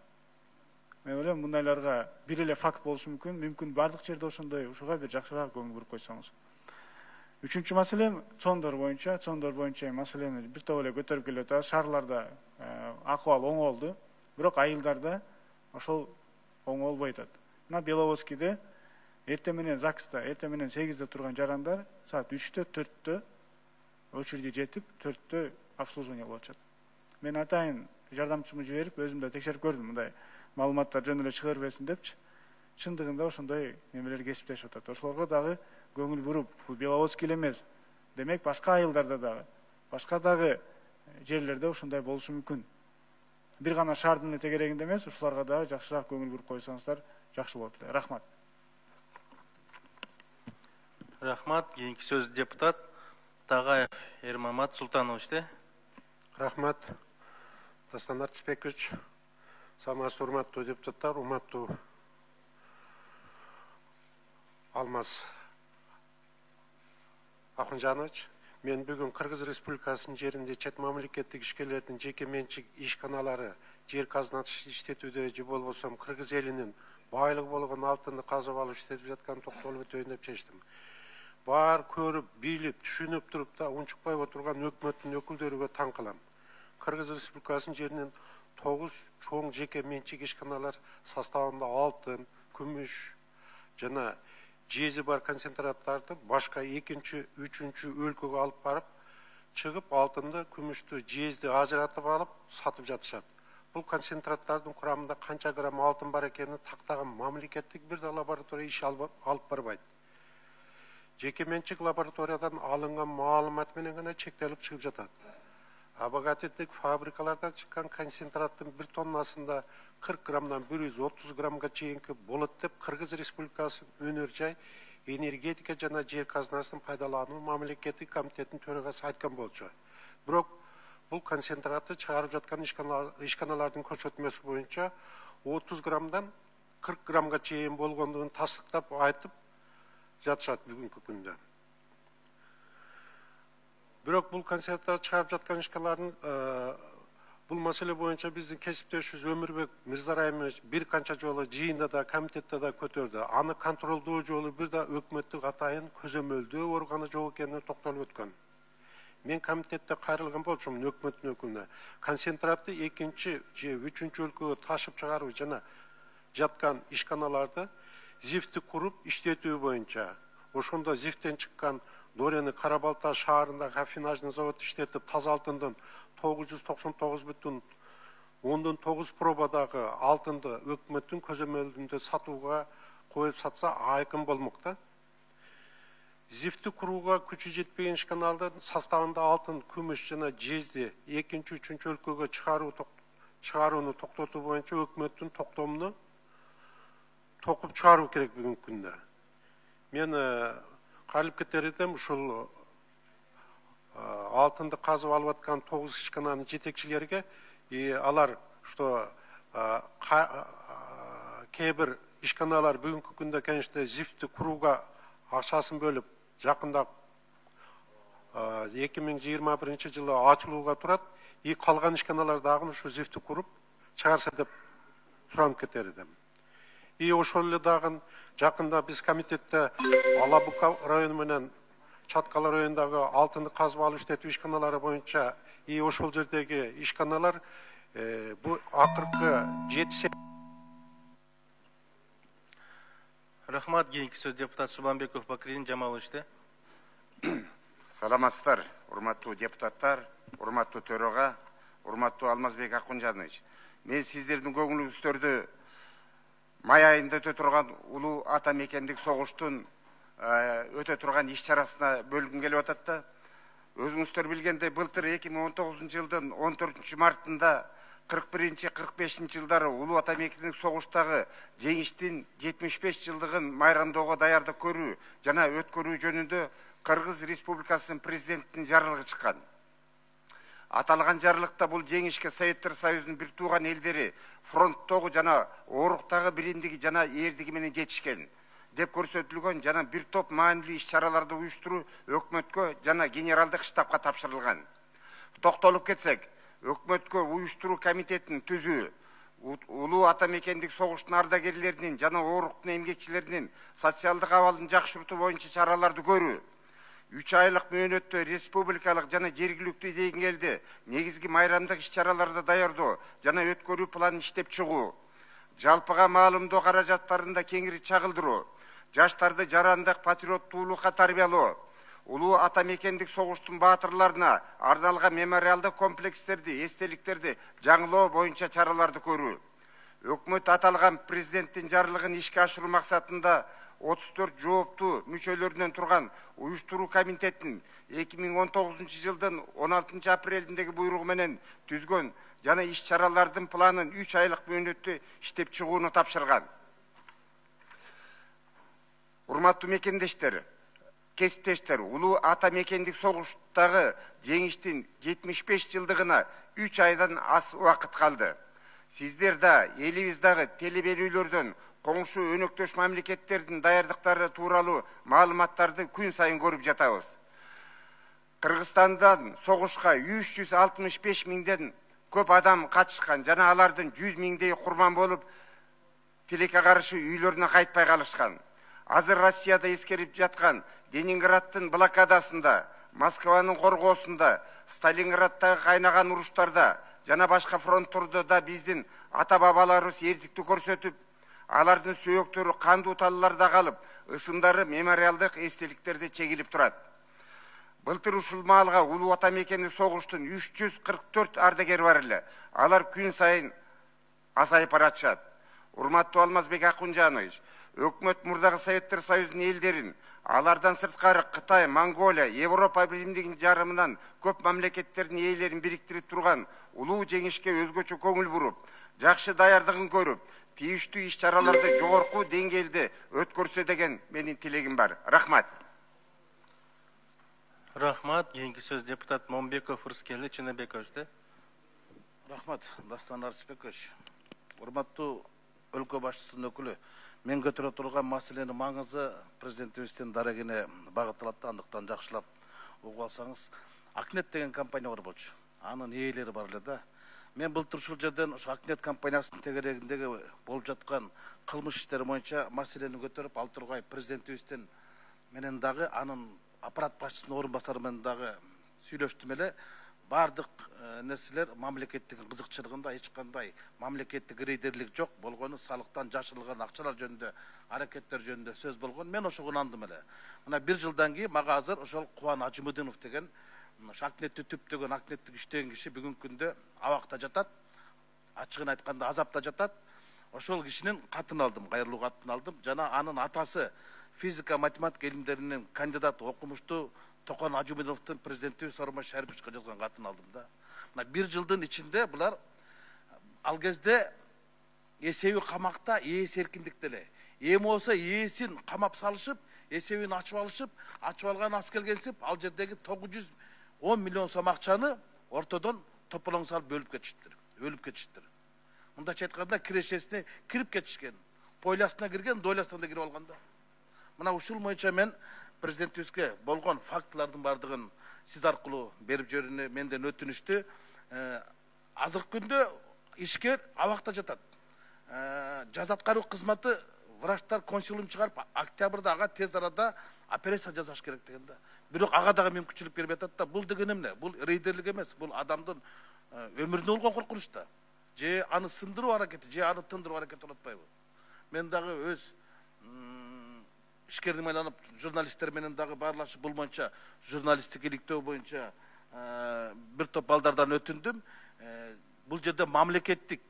Мен ойлойм, мындайларга бир эле факт болушу мүмкүн бардык жерде ошондой, ушуга бир жакшыраак көңүл буруп койсоңуз. Үчүнчү маселе чондор боюнча маселени бир топ эле көтөрүп келип атат. Шаарларда акыбал оңолду, бирок айылдарда ошол оңолбой атат. Мына Беловодскийде эртең менен ЗАГСта, эртең менен 8-де турган жарандар саат 3-тө, 4-тө очереди жетип, 4-тө обслуживание кылып атышат. Мен атайын жардамчымды жиберип өзүм да текшерип көрдүм, мындай маалыматтар жөн эле чыга бербесин депчи. Чындыгында ошондой немелер кесиптешип атат. Ошолорго дагы көңүл буруп, бул Беловодский эле эмес. Демек башка айылдарда дагы, башка дагы жерлерде ошондой болушу мүмкүн. Бир гана шаардын эле тегерегинде эмес, ушуларга дагы жакшыраак көңүл буруп койсоңуздар жакшы болот эле. Рахмат. Рахмат. Кийинки сөз депутат Тагаев Эрмамат Султанович. Рахмат. Дастан Артисбекович, саламатсызбы урматтуу депутаттар, урматтуу Алмаз Ахунжанович. Мен бүгүн Кыргыз Республикасынын жеринде чет мамлекеттик ишкерлердин жеке менчик ишканалары жер казынасын иштетүүдө же болбосо Кыргыз элинин байлыгы болгон алтынды казып алып иштетип жатканын токтолуп өтөйүн деп чечтим. Бар көрүп, билип, түшүнүп туруп да унчукпай отурган өкмөттүн өкүлдөрүгө таң калам. Кыргыз Республикасынын жеринин 9 чоң жеке менчик ишканалар составында алтын, күмүш жана жези бар концентраттарды башка 2-3 өлкөгө алып барып, чыгып алтынды, күмүштү, жезди ажыратып алып сатып жатышат. Бул концентраттардын курамында канча грамм алтын бар экенин тактаган мамлекеттик бир да лаборатория иш алып барбайт. Жеке менчик лабораториядан алынган маалымат менен гана чектелип чыгып жатат. Обогатительдик фабрикалардан чыккан концентраттын 1 тоннасында 40 граммдан 130 граммга чейинки болот деп Кыргыз Республикасынын өнөр жай энергетика жана жер казынасын пайдалануу мамлекеттик комитетинин төрагасы айткан болчу. Бирок бул концентратты чыгарып жаткан ишканалардын көрсөтмөсү боюнча 30 граммдан 40 граммга чейин болгондугун тастыктап айтып жатышат бүгүнкү күндө. Бирок бул концентраттарды чыгарып жаткан ишканалардын бул маселе боюнча биздин кесиптешибиз Өмүрбек Мырзарайымович бир канча жолу жыйында да, комитетте да көтөрдү. Аны контролдоо жолу бир да өкмөттүк атайын көзөмөлдөө органы жок экенине токтолуп өткөн. Мен комитетте кайрылган болчумун өкмөттүн өкүлүнө. Концентратты 2-же 3-чү өлкөгө ташып чыгаруу жана жаткан ишканаларды ЗИФТти куруп иштетүү боюнча, ошондо ЗИФТтен чыккан Дорени Карабалта шаарындагы афинажный завод иштетип таза алтындын 999,9 пробадагы алтынды өкмөттүн көзөмөлүндө сатууга коюп сатса айкын болмок да. ЗИФТти курууга күчү жетпеген ишканалардын составында алтын, күмүш жана жезди 2-3 өлкөгө чыгарууну токтотуу боюнча өкмөттүн токтомуну токуп чыгаруу керек бүгүнкү күндө. Мен кайрылып кетер едим, ушул алтынды казып алып аткан 9 ишкананын жетекчилерге, алар что кээ бир ишканалар бүгүнкү күндө, конечно, ЗИФТти курууга акчасын бөлүп, жакында 2021 жылы ачылууга турат, калган ишканалар дагы ушу ЗИФТти куруп чыгарса деп суранып кетер едим. Ошол эле дагы жакында биз комитетте Алабука району менен Чаткала районундагы алтынды казып алып иштетүү ишканалары боюнча ошол жердеги ишканалар бу акыркы 7. Рахмат. Кийинки сөз депутат Субанбеков Бакирдин Жамаловичте. Саламатсыздар, урматтуу депутаттар, урматтуу төрага, урматтуу Алмазбек Акунжанович. Мен сиздердин көңүлүңүздөрдү май айында өтө турган улуу ата мекендик согуштун өтө турган иш чарасына бөлгүм келип атат да. Өзүңүздөр билгендей, былтыр 2019 жылдын 14 мартында 41-45 жылдары улуу ата мекендик согуштагы жеңиштин 75 жылдыгын майрамдоого даярдык көрүү жана өткөрүү жөнүндө Кыргыз Республикасынын президентинин жарлыгы чыккан. Аталган жарлыкта бул жеңишке Советтер Союзунун бир тууган элдери фронттогу жана ооруктагы биримдиги жана эрдиги менен жетишкен деп көрсөтүлгөн жана бир топ маанилүү иш-чараларды уюштуруу өкмөткө жана генералдык штабка тапшырылган. Токтолуп кетсек, өкмөткө уюштуруу комитетин түзүү, улуу ата мекендик согуштун ардагерлеринин жана ооруктун эмгекчилеринин социалдык абалын жакшыртуу боюнча чараларды көрүү, 3 айлык мөөнөттө республикалык жана жергиликтүү деңгээлде негизги майрамдык иш-чараларды даярдоо жана өткөрүү планын иштеп чыгуу, жалпыга маалымдоо каражаттарында кеңири чагылдыруу, жаштарды жарандык патриоттуулукка тарбиялоо, улуу ата мекендик согуштун баатырларына арналган мемориалдык комплекстерди, эстеликтерди жаңылоо боюнча чараларды көрүү. Өкмөт аталган президенттин жарлыгын ишке ашыруу максатында 34 жооптуу мүчөлөрүнөн турган уюштуруу комитетин 2019 жылдын 16 апрелиндеги буйругу менен түзгөн жана иш чаралардын планын 3 айлык мөөнөттө иштеп чыгууну тапшырган. Урматтуу мекендештер, кесиптештер, улуу ата мекендик согуштагы жеңиштин 75 жылдыгына 3 айдан аз убакыт калды. Сиздер да элибиздагы теле берүүлөрдөн коңшу өнөктөш мамлекеттердин даярдыктары тууралуу маалыматтарды күн сайын көрүп жатабыз. Кыргызстандан согушка 365 миңден көп адам катышкан жана алардын 100 миңдей курман болуп, тилекке каршы үйлөрүнө кайтпай калышкан. Азыр Россияда эскерип жаткан Ленинграддын блокадасында, Москванын коргоосунда, Сталинграддагы кайнаган уруштарда жана башка фронттордо да биздин ата-бабаларыбыз эрдиктүү көрсөтүп, алардын сөөктөрү кандуу талларда калып, ысымдары мемориалдык эстеликтерде чегилип турат. Былтыр ушул маалга улуу ата мекендик согуштун 344 ардагери бар эле. Алар күн сайын азайып баратышат. Урматтуу Алмазбек Акунжанович, өкмөт мурдагы Советтер Союзунун элдерин, алардан сырткары Кытай, Монголия, Европа Биримдигинин жарымынан көп мамлекеттердин ээлерин бириктирип турган улуу жеңишке өзгөчө көңүл буруп, жакшы даярдыгын көрүп, тийиштүү иш чараларды жогорку деңгээлде өткөрсө деген менин тилегим бар. Рахмат. Рахмат. Кийинки сөз депутат Момбеков Рыскели Чыныбекович. Рахмат, Дастан Арысбекович. Урматтуу өлкө башчысынын өкүлү, мен көтөрө турган маселенин маңызы президентибиздин дарегине багытталат, андыктан жакшылап угуп алсаңыз. Акнет деген компания бар болчу. Анын ээлери бар эле да. Мен былтыр ушул жерден ушу Акнет компаниясынын тегерегиндеги болуп жаткан кылмыш иштери боюнча маселени көтөрүп, ал тургай президентибиздин менен дагы анын аппарат башчысынын орун басары менен дагы сүйлөштүм эле. Бардык нерселер мамлекеттик кызыкчылыгында эч кандай мамлекеттик рейдерлик жок болгону, салыктан жашырылган акчалар жөнүндө, аракеттер жөнүндө сөз болгон. Мен ошого ынандым эле. Мына 1 жылдан кийин мага азыр ошол Кубан Ажымыдынов деген Акнетти түптөгөн, Акнеттик иштеген киши бүгүнкү күндө абакта жатат. Ачыгын айтканда азапта жатат. Ошол кишинин катын алдым, кайрылуу катын алдым. Жана анын атасы физика, математика илимдеринин кандидаты, окумуштуу Токон Ажымыдыновдун президентибиз Сооронбай Шариповичке жазган катын алдым да. Мына 1 жылдын ичинде булар ал кезде эсеби камакта, ээси эркиндикте эле. Эми болсо ээсин камап салышып, эсебин ачып алышып, ачып алган аз келгенсип, ал жердеги 910 миллион сом акчаны ортодон тополоң салып бөлүп кетиштир, өлүп кетиштир. Мындайча айтканда кирешесине кирип кетишкен. Пойласына кирген, дойласына да кирип алган да. Мына ушул боюнча мен президентибизге болгон фактылардын бардыгын сиз аркылуу берип жиберүүнү менден өтүнүштү. Азыркы күндө ишкер абакта жатат. Жаза аткаруу кызматы врачтар консилиум чыгарып, октябрда ага тез арада операция жасаш керек деген да. Бирок ага дагы мүмкүнчүлүк берип атат да. Бул деген эмне? Бул рейдерлик эмес, бул адамдын өмүрүнө болгон коркунуч да. Же аны сындыруу аракети, же аны тындыруу аракети болуп атпайбы? Мен дагы өз ишкердим айланып, журналисттер менен дагы баарлашып, бул боюнча журналисттик иликтөө боюнча бир топ балдардан өтүндүм. Бул жерде мамлекеттик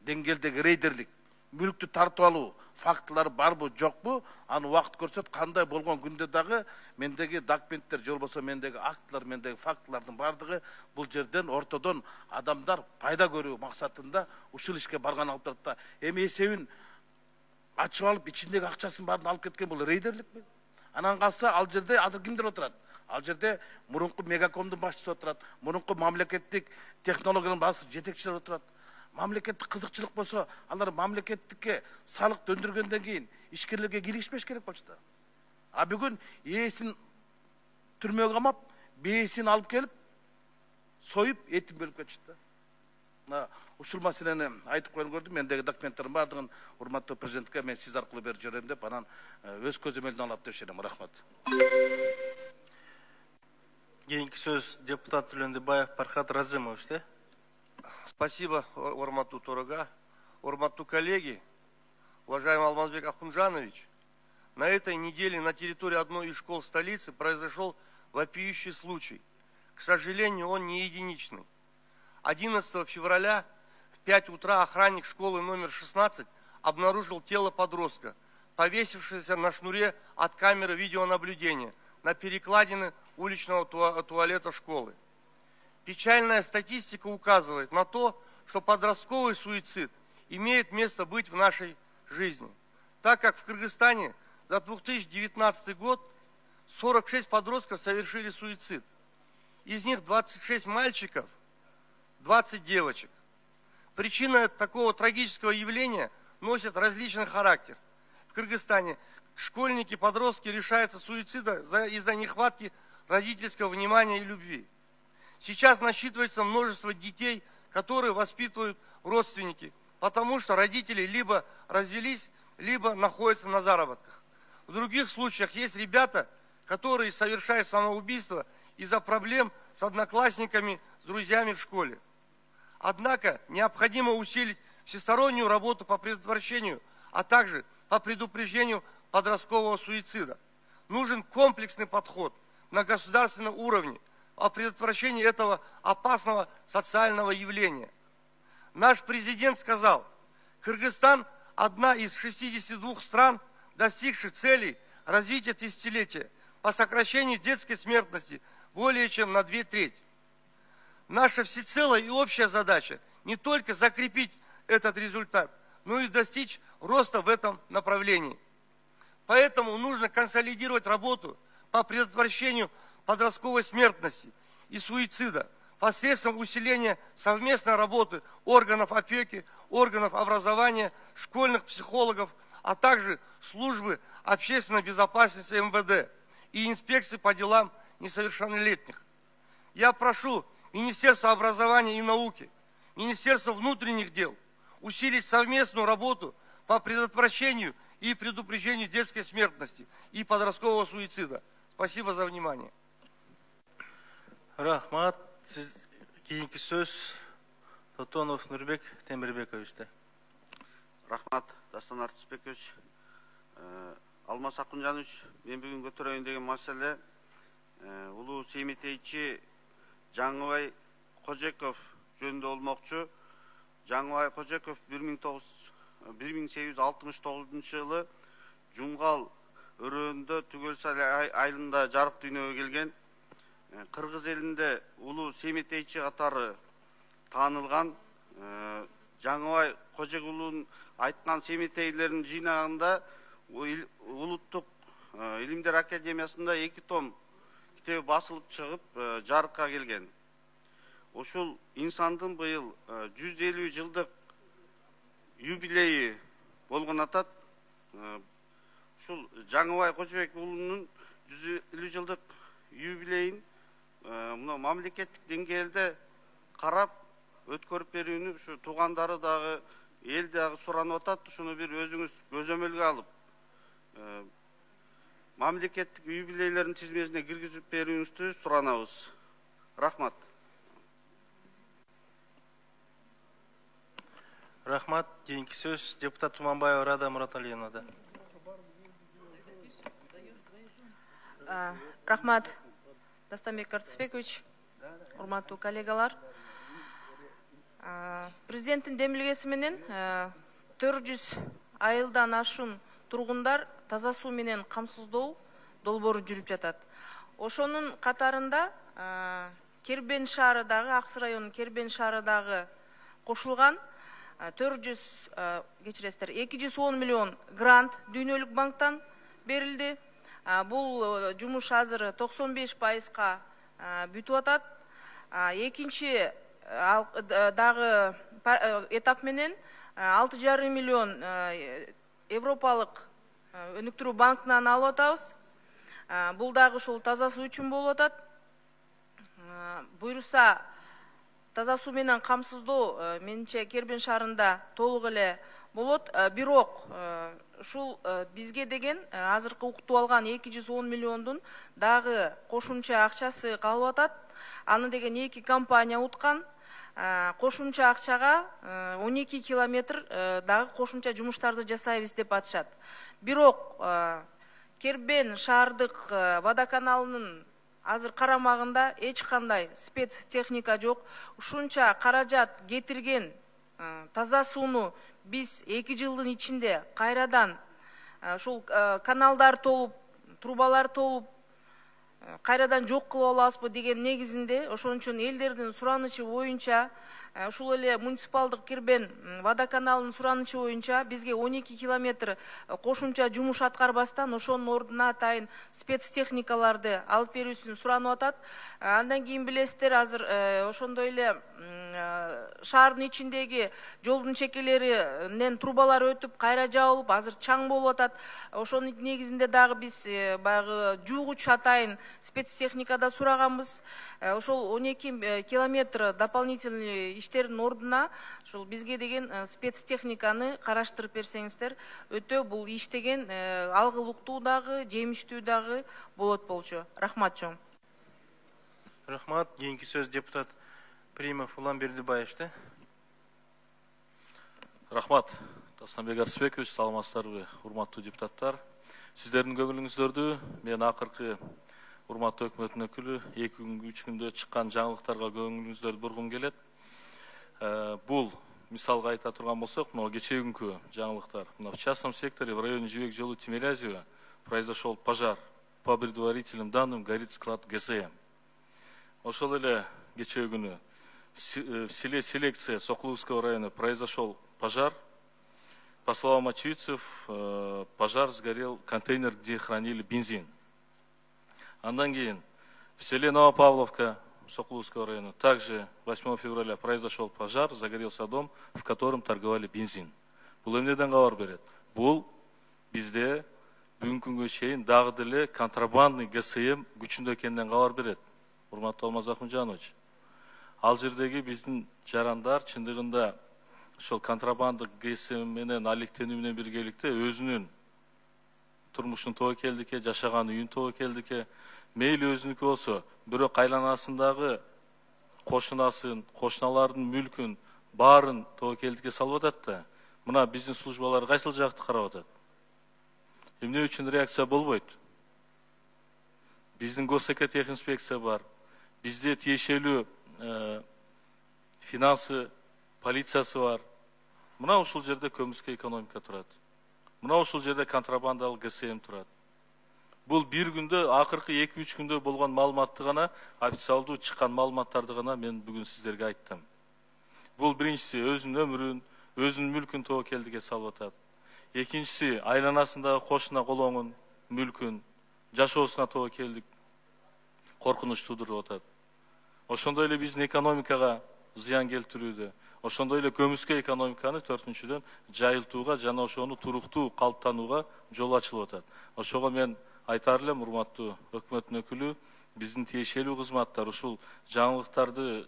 деңгээлдеги рейдерлик, мүлктү тартып алуу фактылары барбы, жокпу? Аны убакыт көрсөт. Кандай болгон күндө дагы мендеги документтер, же болбосо мендеги актылар, мендеги фактылардын бардыгы бул жерден ортодон адамдар пайда көрүү максатында ушул ишке барган алып турат да. Эми эсебин ачып алып, ичиндеги акчасын баарын алып кеткен бул рейдерликпи? Анан калса ал жерде азыр кимдер отурат? Ал жерде мурунку Мегакомдун башчысы отурат, мурунку мамлекеттик технологиянын башчысы, жетекчилер отурат. Мамлекеттик кызыкчылык болсо, алар мамлекеттикке салык өндүргөндөн кийин ишкерлерге киришпеш керек болчу да. А бүгүн ээсин түрмөгө камап, бээсин алып келип, союп, этин бөлүп кетишти да. Ушул маселени айтып коюлган көрдүм. Мендеги документтердин бардыгын урматтуу президентке мен сиз аркылуу берип жиберем деп, анан өз көзөмөлүнө алат деп ишенем. Рахмат. Кийинки сөз депутат Төлөндүбаев Пархат Разымович. Спасибо, урматтуу Торога. Урматтуу коллеги, уважаемый Алмазбек Ахунжанович, на этой неделе на территории одной из школ столицы произошел вопиющий случай. К сожалению, он не единичный. 11 февраля в 5 утра охранник школы номер 16 обнаружил тело подростка, повесившееся на шнуре от камеры видеонаблюдения на перекладине уличного туалета школы. Печальная статистика указывает на то, что подростковый суицид имеет место быть в нашей жизни, так как в Кыргызстане за 2019 год 46 подростков совершили суицид. Из них 26 мальчиков, 20 девочек. Причина такого трагического явления носит различный характер. В Кыргызстане школьники, подростки лишаются суицида из-за нехватки родительского внимания и любви. Сейчас насчитывается множество детей, которые воспитывают родственники, потому что родители либо развелись, либо находятся на заработках. В других случаях есть ребята, которые совершают самоубийство из-за проблем с одноклассниками, с друзьями в школе. Однако необходимо усилить всестороннюю работу по предотвращению, а также по предупреждению подросткового суицида. Нужен комплексный подход на государственном уровне о предотвращении этого опасного социального явления. Наш президент сказал, Кыргызстан – одна из 62 стран, достигших целей развития тысячелетия по сокращению детской смертности более чем на 2/3. Наша всецелая и общая задача не только закрепить этот результат, но и достичь роста в этом направлении. Поэтому нужно консолидировать работу по предотвращению подростковой смертности и суицида посредством усиления совместной работы органов опеки, органов образования, школьных психологов, а также службы общественной безопасности МВД и инспекции по делам несовершеннолетних. Я прошу Министерство образования и науки, Министерство внутренних дел усилить совместную работу по предотвращению и предупреждению детской смертности и подросткового суицида. Спасибо за внимание. Рахмат. Сиз кийинки сөз Тотонов Нурбек Темирбековичте. Рахмат, Дастан Артысбекович. Алмаз Акунжанович, мен бүгүн көтөрөйүн деген маселе улуу семетейчи Жаңыбай Кожеков жөнүндө болмокчу. Жаңыбай Кожеков 1869 жылы Жумгал өрөөнүндө Түгөлсай айылында жарык дүйнөгө келген. Кыргыз элинде улуу семетейчи катары таанылган. Жаңыбай Кожекулунун айткан семетейлерин жыйнагында Улуттук илимдер академиясында 2 том китеби басылып чыгып жарыкка келген. Ушул инсандын быйыл 150 жылдык юбилейи болгон атат. Ушул Жаңыбай Кожебек уулунун 150 жылдык юбилейин мына мамлекеттик деңгээлде карап өткөрүп берүүнү ушу туугандары дагы эл дагы суранып атат. Ушуну бир өзүңүз көзөмөлгө алып мамлекеттик юбилейлердин тизмесине киргизип берүүңүздү суранабыз. Рахмат. Рахмат. Кийинки сөз депутат Туманбаева Рада Мураталиевнада. Рахмат, Дастанбек Артысбекович, урматтуу коллегалар. Президенттин демилгеси менен 400 айылдан ашуун тургундар таза суу менен камсыздоо долбоору жүрүп жатат. Ошонун катарында Кербен шаарындагы, Аксы районунун Кербен шаарындагы кошулган 210 миллион грант дүйнөлүк банктан берилди. Бул жумуш азыр 95%га бүтүп атат. Экинчи дагы этап менен 6,5 миллион Европалык өнүктүрүү банкынан алып атабыз. Бул дагы ушул таза суу үчүн болуп атат. Буйруса таза суу менен камсыздоо менимче Кербен шаарында толук эле болот. Бирок ушул бизге деген азыркы уктуп алган 210 миллиондун дагы кошумча акчасы калып атат. Аны деген 2 компания уткан. Кошумча акчага 12 километр дагы кошумча жумуштарды жасайбыз деп атышат. Бирок Кербен шаардык водоканалынын азыр карамагында эч кандай спецтехника жок. Ушунча каражат кетирген таза сууну биз 2 жылдын ичинде кайрадан ушул каналдар толуп, трубалар толуп, кайрадан жок кылып алабызбы деген негизинде, ошон үчүн элдердин суранычы боюнча, ушул эле муниципалдык кирбен водоканалынын суранычы боюнча бизге 12 километр кошумча жумуш аткарбастан ошонун ордуна атайын спецтехникаларды алып берүүсүн суранып атат. Андан кийин билесиздер, азыр ошондой эле шаардын ичиндеги жолдун чекелеринен трубалар өтүп, кайра жабылып, азыр чаң болуп атат. Ошонун негизинде дагы биз баягы жуугуч атайын спецтехникада сураганбыз. Ошол 12 километр дополнительный иштердин ордуна ушул бизге деген спецтехниканы караштырып берсеңиздер, өтө бул иш деген алгылыктуу дагы, жемиштүү дагы болот болчу. Рахмат чоң. Рахмат. Кийинки сөз депутат Примов Улан Бердибаевчте. Рахмат. Тастанбек Арсбекович, саламатсыздарбы, урматтуу депутаттар. Сиздердин көңүлүңүздөрдү мен акыркы урматтуу өкмөттүн өкүлү 2-3 күндө чыккан жаңылыктарга көңүлүңүздөрдү бургум келет. Бул мисалга айта турган болсок, мына кечеүгүнкү жаңылыктар. Мына в частном секторе в районе Жибек жолу Тимирязева произошел пожар. По предварительным данным горит склад ГСМ. Ошол эле кечеүгүнү в селе Селекция Сокуловского района произошел пожар. По словам очевидцев, пожар сгорел контейнер, где хранили бензин. Андан кийин в селе Новопавловка Сокуловского района также 8 февраля произошел пожар, загорелся дом, в котором торговали бензин. Бул эмнеден кабар берет? Бул бизде бүгүнкү күнгө чейин дагы деле контрабандный ГСМ күчүндө экенинен кабар берет. Урматтуу Алмаз Акунжанович, ал жердеги биздин жарандар чындыгында ошол контрабандык ГСМ менен алектенүү менен биргеликте өзүнүн турмушун тобокелдикке, жашаган үйүн тобокелдикке, мейли өзүнүкү болсо, бирок айланасындагы кошунасын, кошуналардын мүлкүн баарын тобокелдикке салып атат да, мына биздин службалар кайсыл жакты карап атат? Эмне үчүн реакция болбойт? Биздин Госэкотехинспекция бар, бизде тиешелүү финансы, полициясы бар. Мына ушул жерде көмүскө экономика турат. Мына ушул жерде контрабандалык ГСМ турат. Бул бир күндө, акыркы 2-3 күндө болгон маалыматты гана, официалдуу чыккан маалыматтарды гана мен бүгүн сиздерге айттым. Бул биринчиси өзүнүн өмүрүн, өзүнүн мүлкүн тобокелдикке салып атат. Экинчиси айланасындагы кошуна колоңун, мүлкүн, жашоосуна тобокелдик коркунуч туудуруп атат. Ошондой эле биздин экономикага зыян келтирүүдө, ошондой эле көмүскө экономиканы 4-дүн жайылтууга жана ошону туруктуу калыптанууга жол ачылып атат. Ошого мен айтар элем, урматтуу өкмөттүн өкүлү, биздин тиешелүү кызматтар ушул жаңылыктарды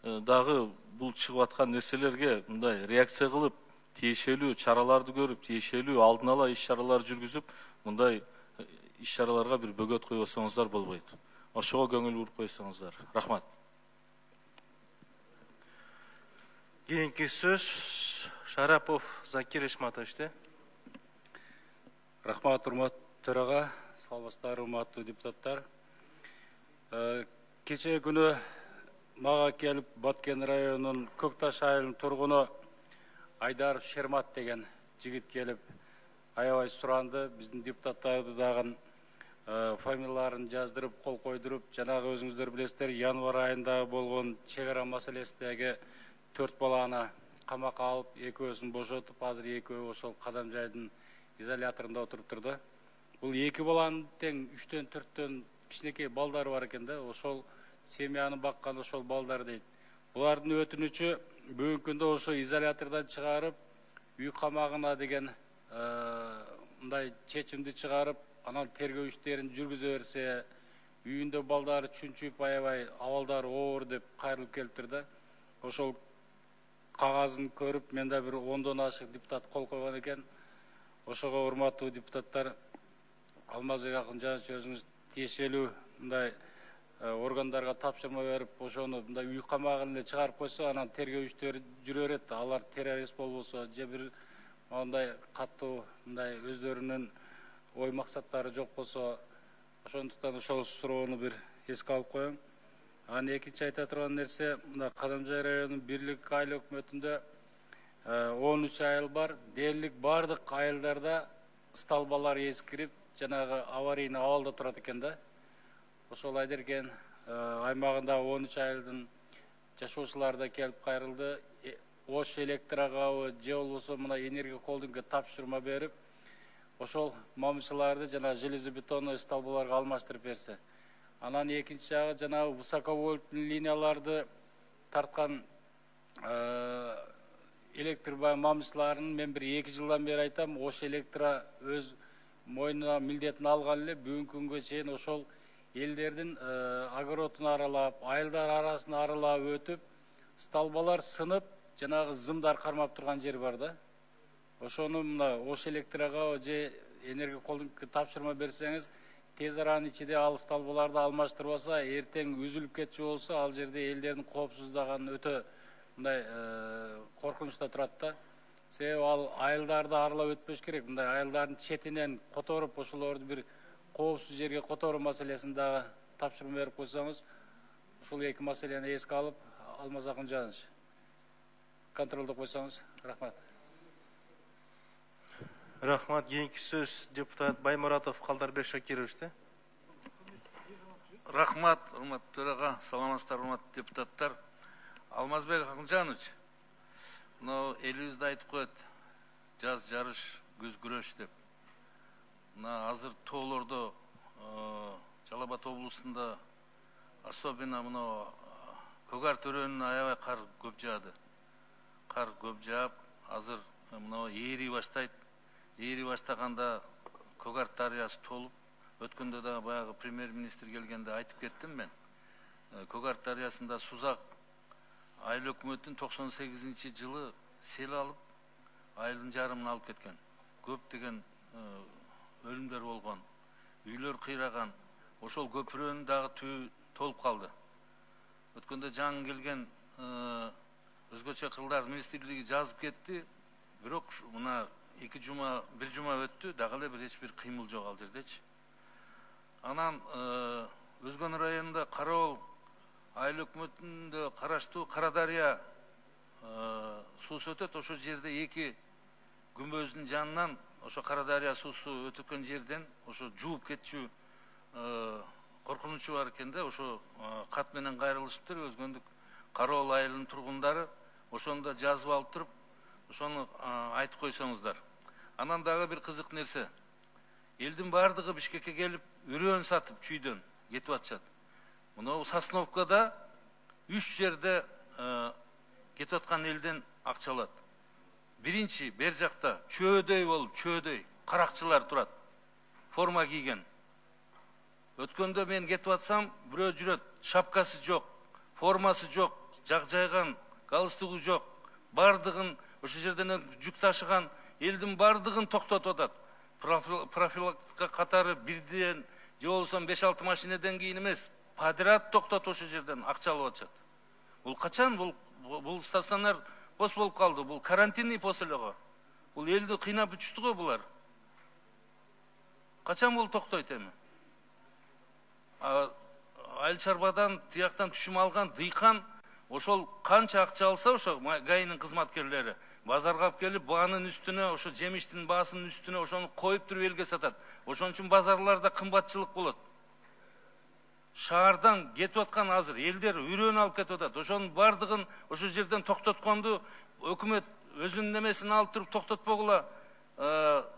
дагы бул чыгып аткан нерселерге мындай реакция кылып, тиешелүү чараларды көрүп, тиешелүү алдын ала иш-чаралар жүргүзүп, мындай иш-чараларга бир бөгөт койбосоңуздар болбойт. Ошого көңүл буруп койсоңуздар. Рахмат. Кийинки сөз Шарапов Закир Ишматовичте. Рахмат, урматтуу төрага, саламатсыздар, урматтуу депутаттар. Кечээ күнү мага келип Баткен районунун Көкташ айылынын тургуну Айдаров Шермат деген жигит келип аябай суранды. Биздин депутаттарды дагы фамилияларын жаздырып, кол койдуруп, жанагы өзүңүздөр билесиздер, январь айында болгон чек ара маселесиндеги 4 баланы камакка алып, экөөсүн бошотуп, азыр экөө ошол Кадамжайдын изоляторунда отуруптур да. Бул 2 баланын тең 3-төн 4-төн кичинекей балдары бар экен да, ошол семьяны баккан ошол балдар дейт. Булардын өтүнүчү бүгүнкү күндө ошо изолятордон чыгарып, үй камагына деген мындай чечимди чыгарып, анан тергөө иштерин жүргүзө берсе, үйүндө балдары чүнчүп, аябай абалдары оор деп кайрылып келиптир да. Ошол кагазын көрүп, мен да бир 10дон ашык депутат кол койгон экен. Ошого урматтуу депутаттар, Алмазбек Акунжанович өзүңүз тиешелүү мындай органдарга тапшырма берип, ошону мындай үй камагына эле чыгарып койсо, анан тергөө иштери жүрө берет. Алар террорист болбосо, же бир мындай каттуу мындай өздөрүнүн ой максаттары жок болсо, ошондуктан ошол суроону бир эске алып коеюн. Анан экинчи айта турган нерсе, мына Кадамжай районунун бирлик айыл өкмөтүндө 13 айыл бар. Дээрлик бардык айылдарда столбалар эскирип, жанагы аварийный абалда турат экен да. Ошол Айдерген аймагында 13 айылдын жашоочулары да келип кайрылды. Ош электрогабы же болбосо мына энергия холдингге тапшырма берип, ошол мамычыларды жана железобетонный столбаларга алмаштырып берсе. Анан экинчи жагы жанагы высоковольтный линияларды тарткан электр мамычыларын мен бир 2 жылдан бери айтам, Ош электро өз мойнуна милдетин алган эле бүгүнкү күнгө чейин ошол элдердин огородун аралап, айылдар арасын аралап өтүп, столбалар сынып, жанагы зымдар кармап турган жер бар да. Ошону мына Ош электрого же энергия холдингге тапшырма берсеңиз, тез аранын ичинде ал столбаларды алмаштырбаса, эртең үзүлүп кетчү болсо, ал жерде элдердин коопсуздугун өтө мындай коркунучта турат да. Себеби ал айылдарды аралап өтпөш керек. Мындай айылдардын четинен которуп, ошолорду бир коопсуз жерге которуу маселесин дагы тапшырма берип койсоңуз, ушул эки маселени эске алып, Алмаз Акунжанович контролдо койсоңуз, рахмат. Рахмат. Кийинки сөз депутат Баймуратов Калдарбек Шакировичте. Рахмат, урматтуу төрага, саламатсыздар, урматтуу депутаттар. Алмазбек Акунжанович, мына элибизде айтып коет, жаз жарыш, күз күрөш деп. Мына азыр тоолордо, Жалал Абад облусунда, особенно мына Көгар төрөнүн аябай кар көп жаады. Кар көп жаап, азыр мына ээри баштайт. Ээри баштаганда Көгар дарыясы толуп, өткөндө да баягы премьер-министр келгенде айтып кеттим мен. Көгар дарыясында Сузак айыл өкмөтүн 98-жылы сел алып, айылдын жарымын алып кеткен. Көп деген өлүмдөр болгон, үйлөр кыйраган. Ошол көпүрөнүн дагы түбү толуп калды. Өткөндө жаңы келген өзгөчө кылдар министрлиги жазып кетти, бирок мына 1 жума өттү, дагы эле бир эч бир кыймыл жок ал жердечи. Анан Өзгөн районунда Карабол айыл өкмөтүндө караштуу Кара Дарыя суусу өтөт. Ошол жерде 2 күмбөздүн жанынан ошо Кара Дарыя суусу өтүкөн жерден ошо жууп кетчү коркунучу бар экен да. Ошо кат менен кайрылышыптыр. Өзгөндүк Карабол айылынын тургундары ошону да жазып алып туруп, ошону айтып койсоңуздар. Анан дагы бир кызык нерсе. Элдин бардыгы Бишкекке келип, үрөөн сатып чүйдөн кетип атышат. Мына Сосновкада 3 жерде кетип аткан элден акча алат. Биринчи бер жакта чөөдөй болуп, чөөдөй каракчылар турат. Форма кийген. Өткөндө мен кетип атсам, бирөө жүрөт, шапкасы жок, формасы жок, жак жайган, галстугу жок. Бардыгын ошол жерден жүк ташыган элдин бардыгын токтотуп атат. Профилактика катары бирден же болбосо 5-6 машинеден кийин эмес, подряд токтотуп ошол жерден акча алып атышат. Бул качан бул стационар пост болуп калды? Бул карантинный пост эле го. Бул элди кыйнап бүтүштү го булар. Качан бул токтойт эми? Айыл чарбадан тияктан түшүм алган дыйкан ошол канча акча алса, ошо ГАИнин кызматкерлери базарга алып келип, баанын үстүнө, ошо жемиштин баасынын үстүнө ошону коюп туруп элге сатат. Ошон үчүн базарларда кымбатчылык болот. Шаардан кетип аткан азыр элдер үрөөнү алып кетип атат. Ошонун бардыгын ошол жерден токтотконду өкмөт өзүнүн немесин алып туруп токтотпогула,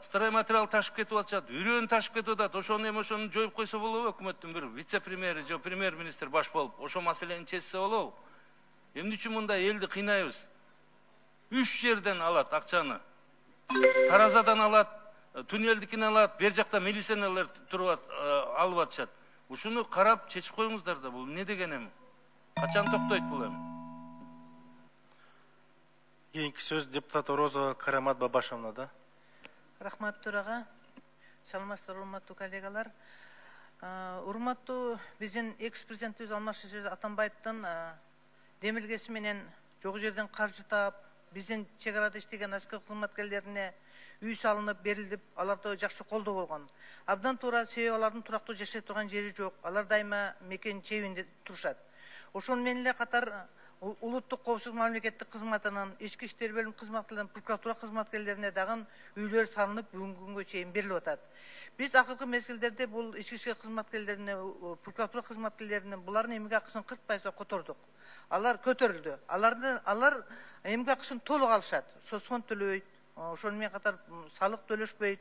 стройматериал ташып кетип атышат, үрөөнү ташып кетип атат. Ошону эми ошону жоюп койсо болобу? Өкмөттүн бир вице-премьери же премьер-министр баш болуп, ошол маселени чечсе болобу? Эмне үчүн мындай элди кыйнайбыз? 3 жерден алат акчаны. Таразадан алат, туннелдикин алат, бер жакта милиционерлер туруп алып атышат. Ушуну карап чечип коюңуздар да, бул эмне деген эми? Качан токтойт бул эми? Кийинки сөз депутат Орозова Карамат Бабашевна да. Рахмат төрага. Саламатсыздар, урматтуу коллегалар. Урматтуу биздин экс-президентибиз Алмазбек Атамбаевдин демилгеси менен жок жерден каржы таап, биздин чек арада иштеген аскер кызматкерлерине үй салынып берилип, аларда жакшы колдоо болгон. Абдан туура, себеби алардын турактуу жашай турган жери жок. Алар дайыма мекен чебинде турушат. Ошол менен эле катар улуттук коопсуздук мамлекеттик кызматынын, ички иштер бөлүм кызматкерлеринин, прокуратура кызматкерлерине дагы үйлөр салынып, бүгүнкү күнгө чейин берилип атат. Биз акыркы мезгилдерде бул ички иштер кызматкерлерине, прокуратура кызматкерлеринин булардын эмгек акысын 40% котордук. Алар көтөрүлдү. Алар эмгек акысын толук алышат. Соцфонд төлөбөйт, ошону менен катар салык төлөшпөйт.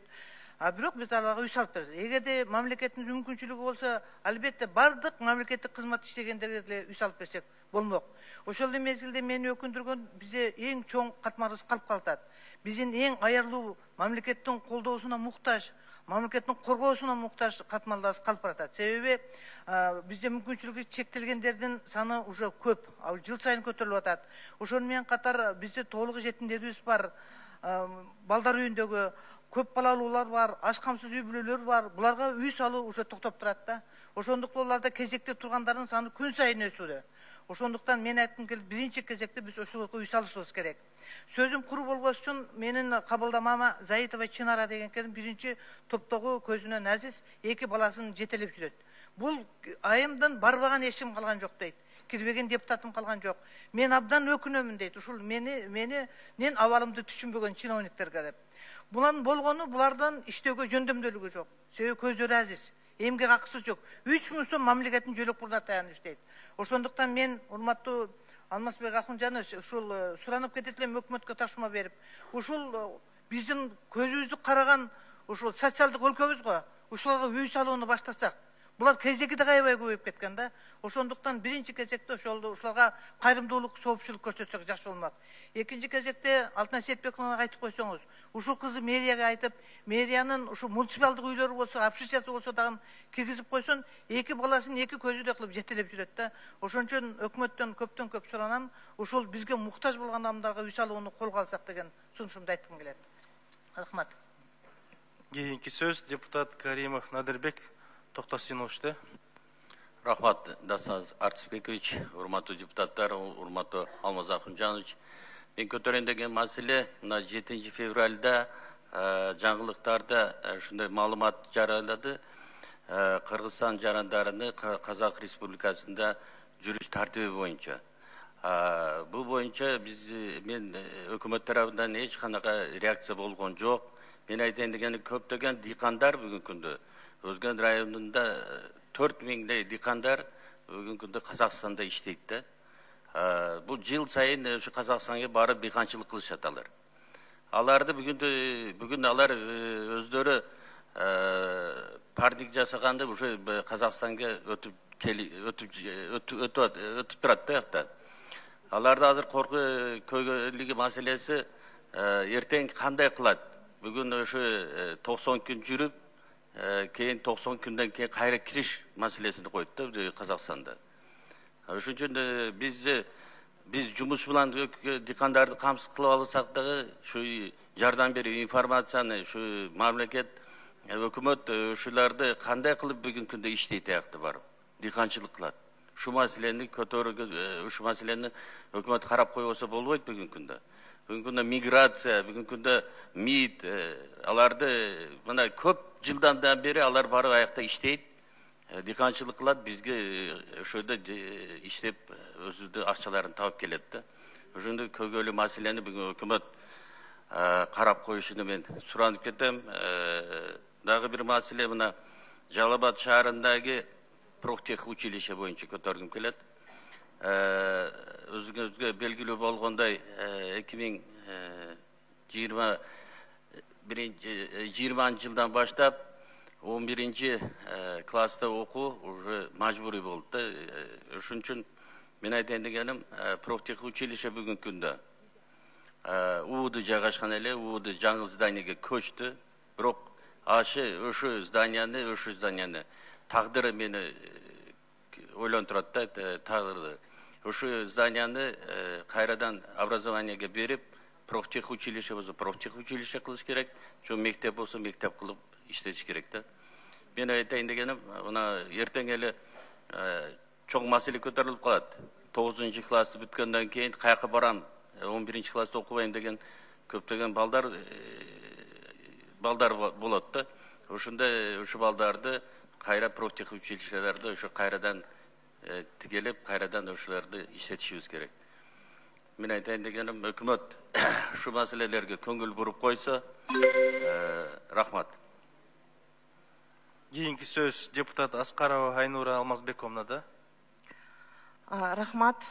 Бирок биз аларга үй салып беребиз. Эгерде мамлекеттин мүмкүнчүлүгү болсо, албетте бардык мамлекеттик кызмат иштегендерге деле үй салып берсек болмок. Ошол эле мезгилде мени өкүндүргөн бизде эң чоң катмарыбыз калып калат. Биздин эң аярлуу мамлекеттин колдоосуна муктаж, мамлекеттин коргоосуна муктаж катмарларыбыз калып баратат. Себеби бизде мүмкүнчүлүгү чектелгендердин саны уже көп, жыл сайын көтөрүлүп атат. Ошону менен катар бизде толук жетимдерибиз бар, балдар үйүндөгү көп балалуулар бар, аш камсыз үй бүлөлөр бар. Буларга үй салуу уже токтоп турат да. Ошондуктан аларда кезекте тургандардын саны күн сайын өсүүдө. Ошондуктан мен айткым келип, биринчи кезекте биз ошолорго үй салышыбыз керек. Сөзүм куру болбош үчүн менин кабылдамама Заитова Чынара деген келин биринчи топтогу көзүнөн азиз 2 баласын жетелеп жүрөт. Бул айымдан барбаган эшим калган жок дейт. Кирбеген депутатым калган жок. Мен абдан өкүнөмүн дейт. Ушул менин абалымды түшүнбөгөн чиновниктерге деп. Булардын болгону булардан иштөөгө жөндөмдүүлүгү жок. Себеби көздөрү азиз, эмгек акысы жок. 3000 сом мамлекеттин жөлөк пулуна таянып иштейт. Ошондуктан мен урматтуу Алмазбек Акунжанович ушул суранып кетет элем өкмөткө тапшырма берип, ушул биздин көзүбүздү караган ушул социалдык өлкөбүз го. Ушуларга үй салууну баштасак, булар кезеги да аябай көбөйүп кеткен да. Ошондуктан биринчи кезекте ушуларга кайрымдуулук, соопчулук көрсөтсөк жакшы болмок. Экинчи кезекте Алтынай Сетбековага айтып койсоңуз, ушул кызы мэрияга айтып, мэриянын ушул муниципалдык үйлөрү болсо, общежитиясы болсо дагы киргизип койсун, 2 баласын 2 көзүдөй кылып жетелеп жүрөт да. Ошон үчүн өкмөттөн көптөн көп суранам, ушул бизге муктаж болгон адамдарга үй салууну колго алсак деген сунушумду айткым келет. Рахмат. Кийинки сөз депутат Каримов Надырбек Токтосиновичте. Рахмат, Дасан Артысбекович, урматтуу депутаттар, урматтуу Алмаз Акунжанович. Мен көтөрөйүн деген маселе мына 7 февралда жаңылыктарда ушундай маалымат жарыялады. Кыргызстан жарандарыны Казак Республикасында жүрүш тартиби боюнча. Бул боюнча мен өкмөт тарабынан эч кандай реакция болгон жок. Мен айтайын дегени көптөгөн дыйкандар бүгүнкү күндө Өзгөн районунда 4000 дыйкандар бүгүнкү күндө Казакстанда иштейт да. Бул жыл сайын ушу Казакстанга барып дыйканчылык кылышат алар. Аларды бүгүн алар өздөрү парник жасаганда уже Казакстанга өтүп турат да жакта. Аларды азыр көйгөйлүгү маселеси эртең кандай кылат? Бүгүн ушу 90 күн жүрүп, кейін 90 күнден кейін кайра кириш маселесini койду да Казакстанда. Ошон үчүн биз жумуш менен дыйкандарды камсыз кылып алсак дагы ушу жардам берүү информацияны ушу мамлекет өкмөт ушуларды кандай кылып бүгүнкү күндө иштейт аякта барып дыйканчылык кылат. Ушу маселени көтөрүүгө, ушу маселени өкмөт карап койбосо болбойт бүгүнкү күндө. Бүгүнкү күндө миграция, бүгүнкү күндө МИД, аларды мына көп жылдан бери алар барып аякта иштейт, дыйканчылык кылат, бизге ошондо иштеп өзүнүн акчаларын таап келет да. Ошондой көйгөйлүү маселени бүгүн өкмөт карап коюшуну мен суранып кетем. Дагы бир маселе мына Жалал Абад шаарындагы профтех училище боюнча көтөргүм келет. Өзүңүзгө белгилүү болгондой 2020 жылдан баштап 11 класста окуу уже мажбурий болду да. Ошон үчүн мен айтайын дегеним профтех училище бүгүнкү күндө УУД жайгашкан эле, УУД жаңы зданиеге көчтү. Бирок ошо зданияны тагдыры мени ойлонтурат да, тагдыры. Ошо зданияны кайрадан образованиеге берип, профтех училище болсо профтех училище кылыш керек, жо мектеп болсо мектеп кылып иштетиш керек да. Мен айтайын дегеним, мына эртең эле чоң маселе көтөрүлүп калат. 9 классты бүткөндөн кийин каяка барам, 11 класста окубайм деген көптөгөн балдар балдар болот да. Ошондой ушу балдарды кайра профтех училищелерде ошо кайрадан тигелеп, кайрадан ошолорду иштетишибиз керек. Мен айтайын дегеним, өкмөт ушу маселелерге көңүл буруп койсо, рахмат. Кийинки сөз депутат Аскарова Айнура Алмазбековна да. Рахмат.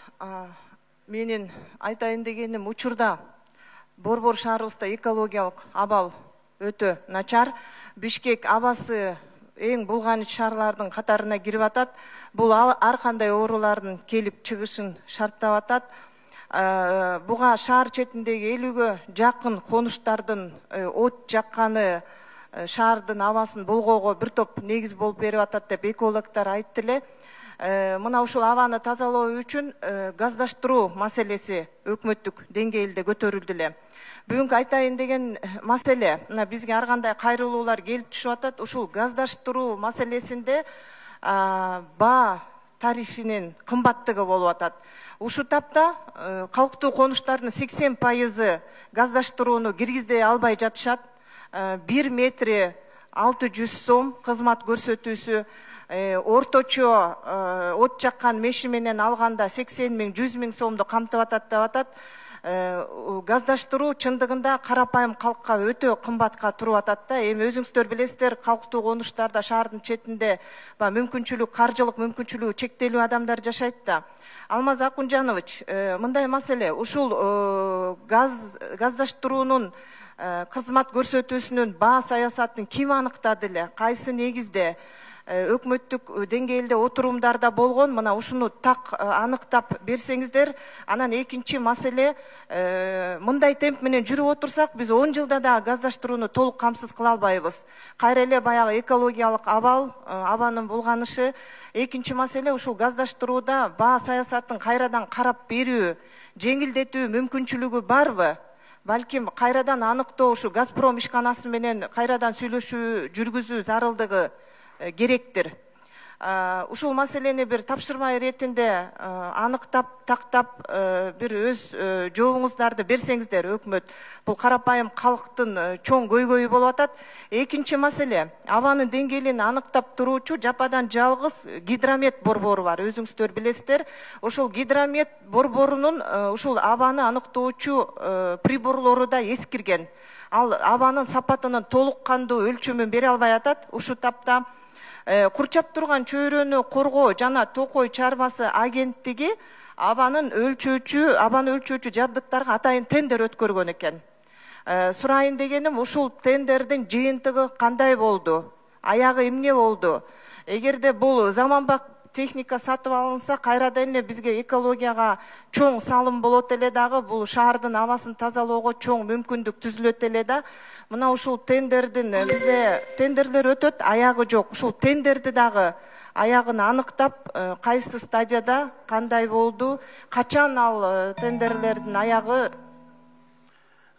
Менин айтайын дегеним, учурда Борбор шаарыбызда экологиялык абал өтө начар. Бишкек абасы эң булганыч шаарлардын катарына кирип атат. Бул ар кандай оорулардын келип чыгышын шарттап атат. Буга шаар четиндеги 50-гө жакын конуштардын от жакканы шаардын абасын болгоого бир топ негиз болуп берип атат деп экологдор айтты эле. Мына ушул абаны тазалоо үчүн газдаштыруу маселеси өкмөттүк деңгээлде көтөрүлдү эле. Бүгүнкү айтайын деген маселе, мына бизге ар кандай кайрылуулар келип түшүп атат. Ушул газдаштыруу маселесинде баа тарифинин кымбаттыгы болуп атат. Ушу тапта калктуу конуштардын 80% газдаштырууну киргизе албай жатышат. 1 метри 600 сом кызмат көрсөтүүсү, орточо от жаккан меши менен алганда 80 миң 100 миң сомду камтып атат деп атат. Газдаштыруу чындыгында карапайым калкка өтө кымбатка туруп атат да. Эми өзүңүздөр билесиздер, калктуу конуштарда шаардын четинде мүмкүнчүлүк, каржылык мүмкүнчүлүгү чектелүү адамдар жашайт да. Алмаз Акунжанович, мындай маселе, ушул газдаштыруунун кызмат көрсөтүүсүнүн баа саясатын ким аныктады эле? Кайсы негизде? Өкмөттүк деңгээлде отурумдарда болгон, мына ушуну так аныктап берсеңиздер. Анан экинчи маселе, мындай темп менен жүрүп отурсак, биз 10 жылда да газдаштырууну толук камсыз кыла албайбыз. Кайра эле баягы экологиялык абал, абанын булганышы. Экинчи маселе, ушул газдаштырууда баа саясатын кайрадан карап берүү, жеңилдетүү мүмкүнчүлүгү барбы? Балким кайрадан аныктоо, ушу Газпром ишканасы менен кайрадан сүйлөшүү жүргүзүү зарылдыгы керектир. Ушул маселени бир тапшырма иретинде аныктап, тактап, бир өз жообуңуздарды берсеңиздер, өкмөт. Бул карапайым калктын чоң көйгөйү болуп атат. Экинчи маселе, абанын деңгээлин аныктап туруучу жападан жалгыз гидромет борбору бар. Өзүңүздөр билесиздер. Ушул гидромет борборунун ушул абаны аныктоочу приборлору да эскирген. Ал абанын сапатынын толук кандуу өлчөмүн бере албай атат. Ушу тапта курчап турган чөйрөнү коргоо жана токой чарбасы агенттиги абаны өлчөөчү жабдыктарга атайын тендер өткөргөн экен. Сурайын дегеним, ушул тендердин жыйынтыгы кандай болду? Аягы эмне болду? Эгерде бул заманбап техника сатып алынса, кайрадан эле бизге экологияга чоң салым болот эле дагы, бул шаардын абасын тазалоого чоң мүмкүндүк түзүлөт эле да. Мына ушул тендердин бизде тендерлер өтөт, аягы жок. Ушул тендерди дагы аягын аныктап, кайсы стадияда, кандай болду, качан ал тендерлердин аягы.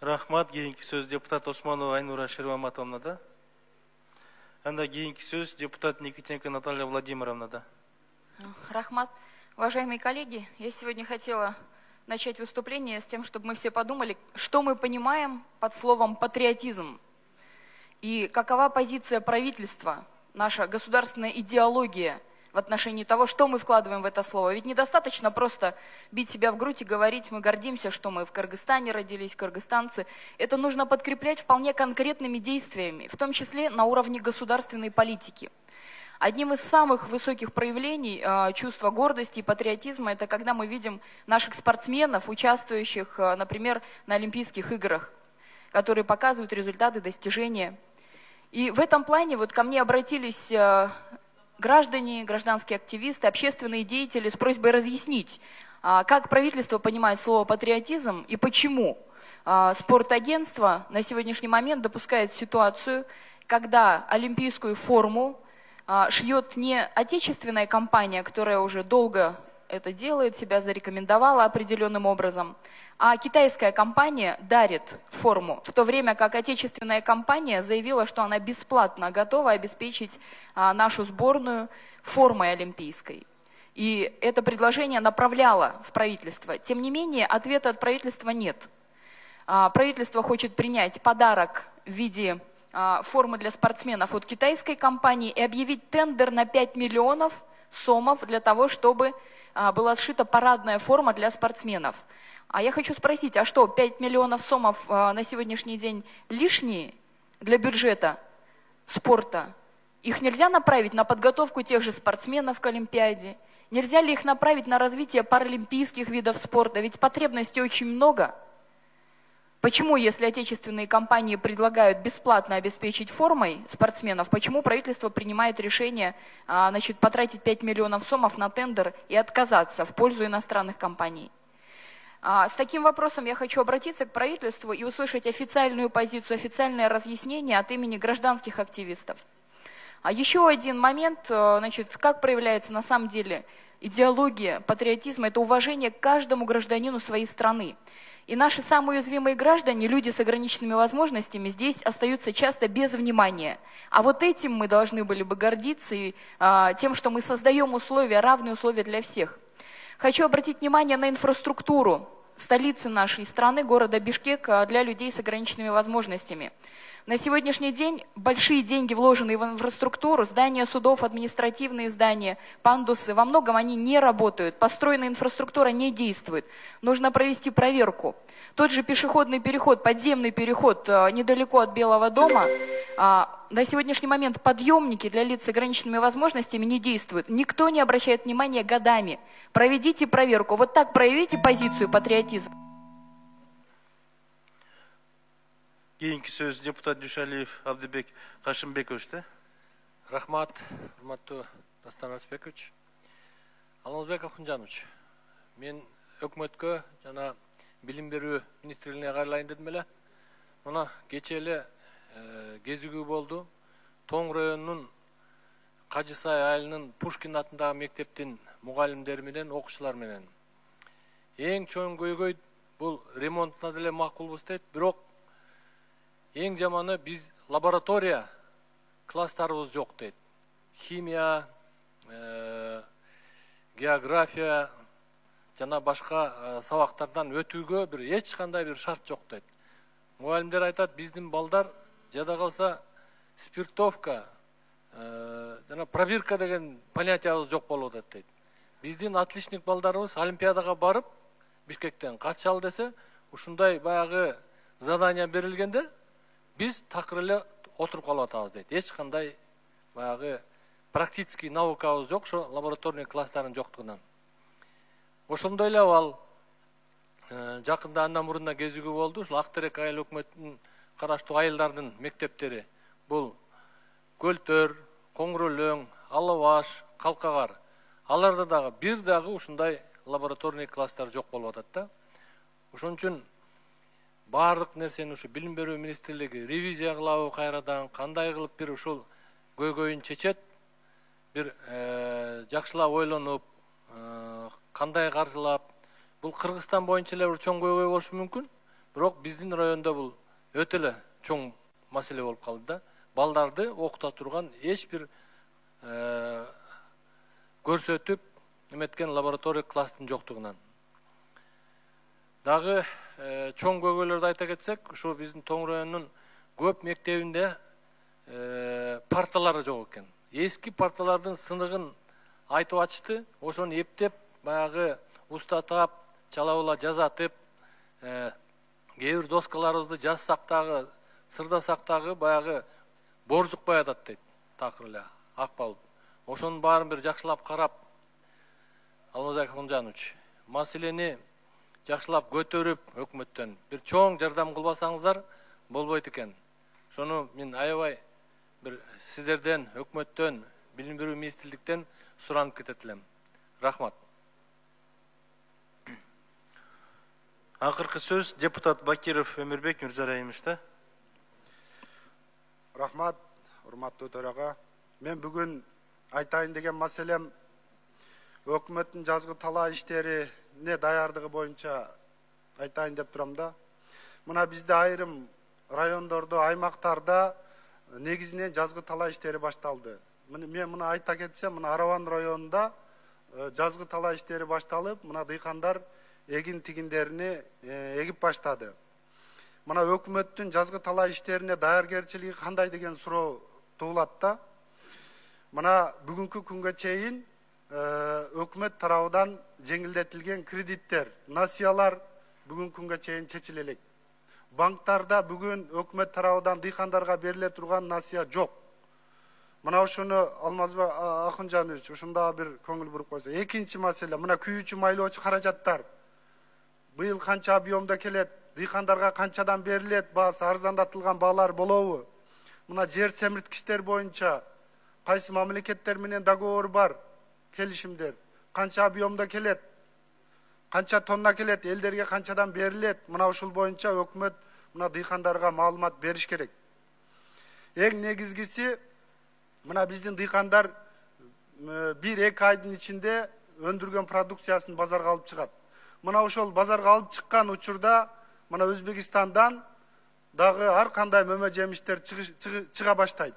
Рахмат. Кийинки сөз депутат Осмонова Айнура Шерваматовна да. Анда кийинки сөз депутат Никитенко Наталья Владимировна да. Рахмат. Уважаемые коллеги, я сегодня хотела начать выступление с тем, чтобы мы все подумали, что мы понимаем под словом патриотизм и какова позиция правительства, наша государственная идеология в отношении того, что мы вкладываем в это слово. Ведь недостаточно просто бить себя в грудь и говорить, мы гордимся, что мы в Кыргызстане родились, кыргызстанцы. Это нужно подкреплять вполне конкретными действиями, в том числе на уровне государственной политики. Одним из самых высоких проявлений чувства гордости и патриотизма это когда мы видим наших спортсменов, участвующих, например, на Олимпийских играх, которые показывают результаты, достижения. И в этом плане вот ко мне обратились граждане, гражданские активисты, общественные деятели с просьбой разъяснить, как правительство понимает слово патриотизм и почему спортагентство на сегодняшний момент допускает ситуацию, когда олимпийскую форму шьет не отечественная компания, которая уже долго это делает, себя зарекомендовала определенным образом, а китайская компания дарит форму, в то время как отечественная компания заявила, что она бесплатно готова обеспечить нашу сборную формой олимпийской. И это предложение направляло в правительство. Тем не менее, ответа от правительства нет. Правительство хочет принять подарок в виде формы для спортсменов от китайской компании и объявить тендер на 5 миллионов сомов для того, чтобы была сшита парадная форма для спортсменов. А я хочу спросить, а что, 5 миллионов сомов на сегодняшний день лишние для бюджета спорта? Их нельзя направить на подготовку тех же спортсменов к Олимпиаде? Нельзя ли их направить на развитие паралимпийских видов спорта? Ведь потребностей очень много. Почему, если отечественные компании предлагают бесплатно обеспечить формой спортсменов, почему правительство принимает решение потратить 5 миллионов сомов на тендер и отказаться в пользу иностранных компаний? С таким вопросом я хочу обратиться к правительству и услышать официальную позицию, официальное разъяснение от имени гражданских активистов. Еще один момент, как проявляется на самом деле идеология патриотизма, это уважение к каждому гражданину своей страны. И наши самые уязвимые граждане, люди с ограниченными возможностями, здесь остаются часто без внимания. А вот этим мы должны были бы гордиться, и тем, что мы создаем условия, равные условия для всех. Хочу обратить внимание на инфраструктуру столицы нашей страны, города Бишкек, для людей с ограниченными возможностями. На сегодняшний день большие деньги, вложенные в инфраструктуру, здания судов, административные здания, пандусы, во многом они не работают, построенная инфраструктура не действует. Нужно провести проверку. Тот же пешеходный переход, подземный переход недалеко от Белого дома, на сегодняшний момент подъемники для лиц с ограниченными возможностями не действуют. Никто не обращает внимания годами. Проведите проверку. Вот так проявите позицию патриотизма. Кейинки сөз депутат Дүйшалиев Абдыбек Кашымбекович. Рахмат, урматтуу Дастан Арсбекович. Алмазбек Акунжанович, мен өкмөткө жана билим берүү министрлигине кайрылайын дедим эле. Мына кечээ эле кезигүү болду. Тоң районунун Кажысай айылынын Пушкин атындагы мектептин мугалимдери менен, окуучулар менен. Эң чоң көйгөй бул ремонтуна деле макулбуз дейт, бирок эң жаманы биз лаборатория класстарыбыз жок дейт. Химия, география жана башка сабактардан өтүүгө эч кандай бир шарт жок дейт. Мугалимдер айтат, биздин балдар жада калса спиртовка жана пробирка деген понятиябыз жок болуп атат дейт. Биздин отличник балдарыбыз олимпиадага барып Бишкектен катышалы десе, ушундай баягы задания берилгенде биз такыр эле отуруп калып атабыз дейт. Эч кандай баягы практический наукабыз жок, ошо лабораторный класстардын жоктугунан. Ошондой эле ал жакында андан мурунда кезигүү болду. Ушул Ак Терек айыл өкмөтүнүн караштуу айылдардын мектептери бул Көлтөр, Коңрөлөң, Алабаш, Калкагар. Аларда дагы бир дагы ушундай лабораторный класстар жок болуп атат да. Ошон үчүн баардык нерсени ушу билим берүү министрлиги ревизия кылабы кайрадан, кандай кылып бир ушул көйгөйүн чечет, бир жакшылап ойлонуп, кандай каржылап. Бул Кыргызстан боюнча эле бир чоң көйгөй болушу мүмкүн, бирок биздин районда бул өтө эле чоң маселе болуп калды да. Балдарды окута турган эч бир көрсөтүп эметкен лаборатория класстын жоктугунан. Дагы чоң көйгөйлөрдү айта кетсек, ушу биздин Тоң районунун көп мектебинде парталары жок экен. Эски парталардын сыныгын айтып ачты, ошону эптеп, баягы устатап, чалабыла жазатып, кээ бир доскаларыбызды жазсак дагы, сырдасак дагы баягы боржукпай атат дейт, такыр эле акпалып. Ошонун баарын бир жакшылап карап, Алмазбек Акунжанович, маселени жакшылап көтөрүп өкмөттөн бир чоң жардам кылбасаңыздар болбойт экен. Ошону мен аябай бир сиздерден, өкмөттөн, билим берүү министрликтен суранып кетет элем. Рахмат. Акыркы сөз депутат Бакиров Өмүрбек Мирзарайымович. Рахмат, урматтуу төрага. Мен бүгүн айтайын деген маселем өкмөттүн жазгы талаа иштерине даярдыгы боюнча айтайын деп турам да. Мына бизде айрым райондордо, аймактарда негизинен жазгы талаа иштери башталды. Мен мына айта кетсем, мына Араван районунда жазгы талаа иштери башталып, мына дыйкандар эгин тигиндерини эгип баштады. мына өкмөттүн жазгы талаа иштерине даяргерчилиги кандай деген суроо туулат да. Мына бүгүнкү күнгө чейин өкмөт тарабынан жеңилдетилген кредиттер, насыялар бүгүнкү күнгө чейин чечиле элек. Банктарда бүгүн өкмөт тарабынан дыйкандарга бериле турган насыя жок. Мына ушуну Алмазбек Акынжанович ушунда бир көңүл буруп койсо. Экинчи маселе, мына күйүүчү майлоочу каражаттар быйыл канча объемда келет, дыйкандарга канчадан берилет, баасы арзандатылган баалар болобу? Мына жер семирткичтер боюнча кайсы мамлекеттер менен договор бар, келишимдер, канча объемда келет, канча тонна келет, элдерге канчадан берилет? Мына ушул боюнча өкмөт мына дыйкандарга маалымат бериш керек. Эң негизгиси, мына биздин дыйкандар 1-2 айдын ичинде өндүргөн продукциясын базарга алып чыгат. Мына ошол базарга алып чыккан учурда мына Өзбекистандан дагы ар кандай мөмө жемиштер чыга баштайт.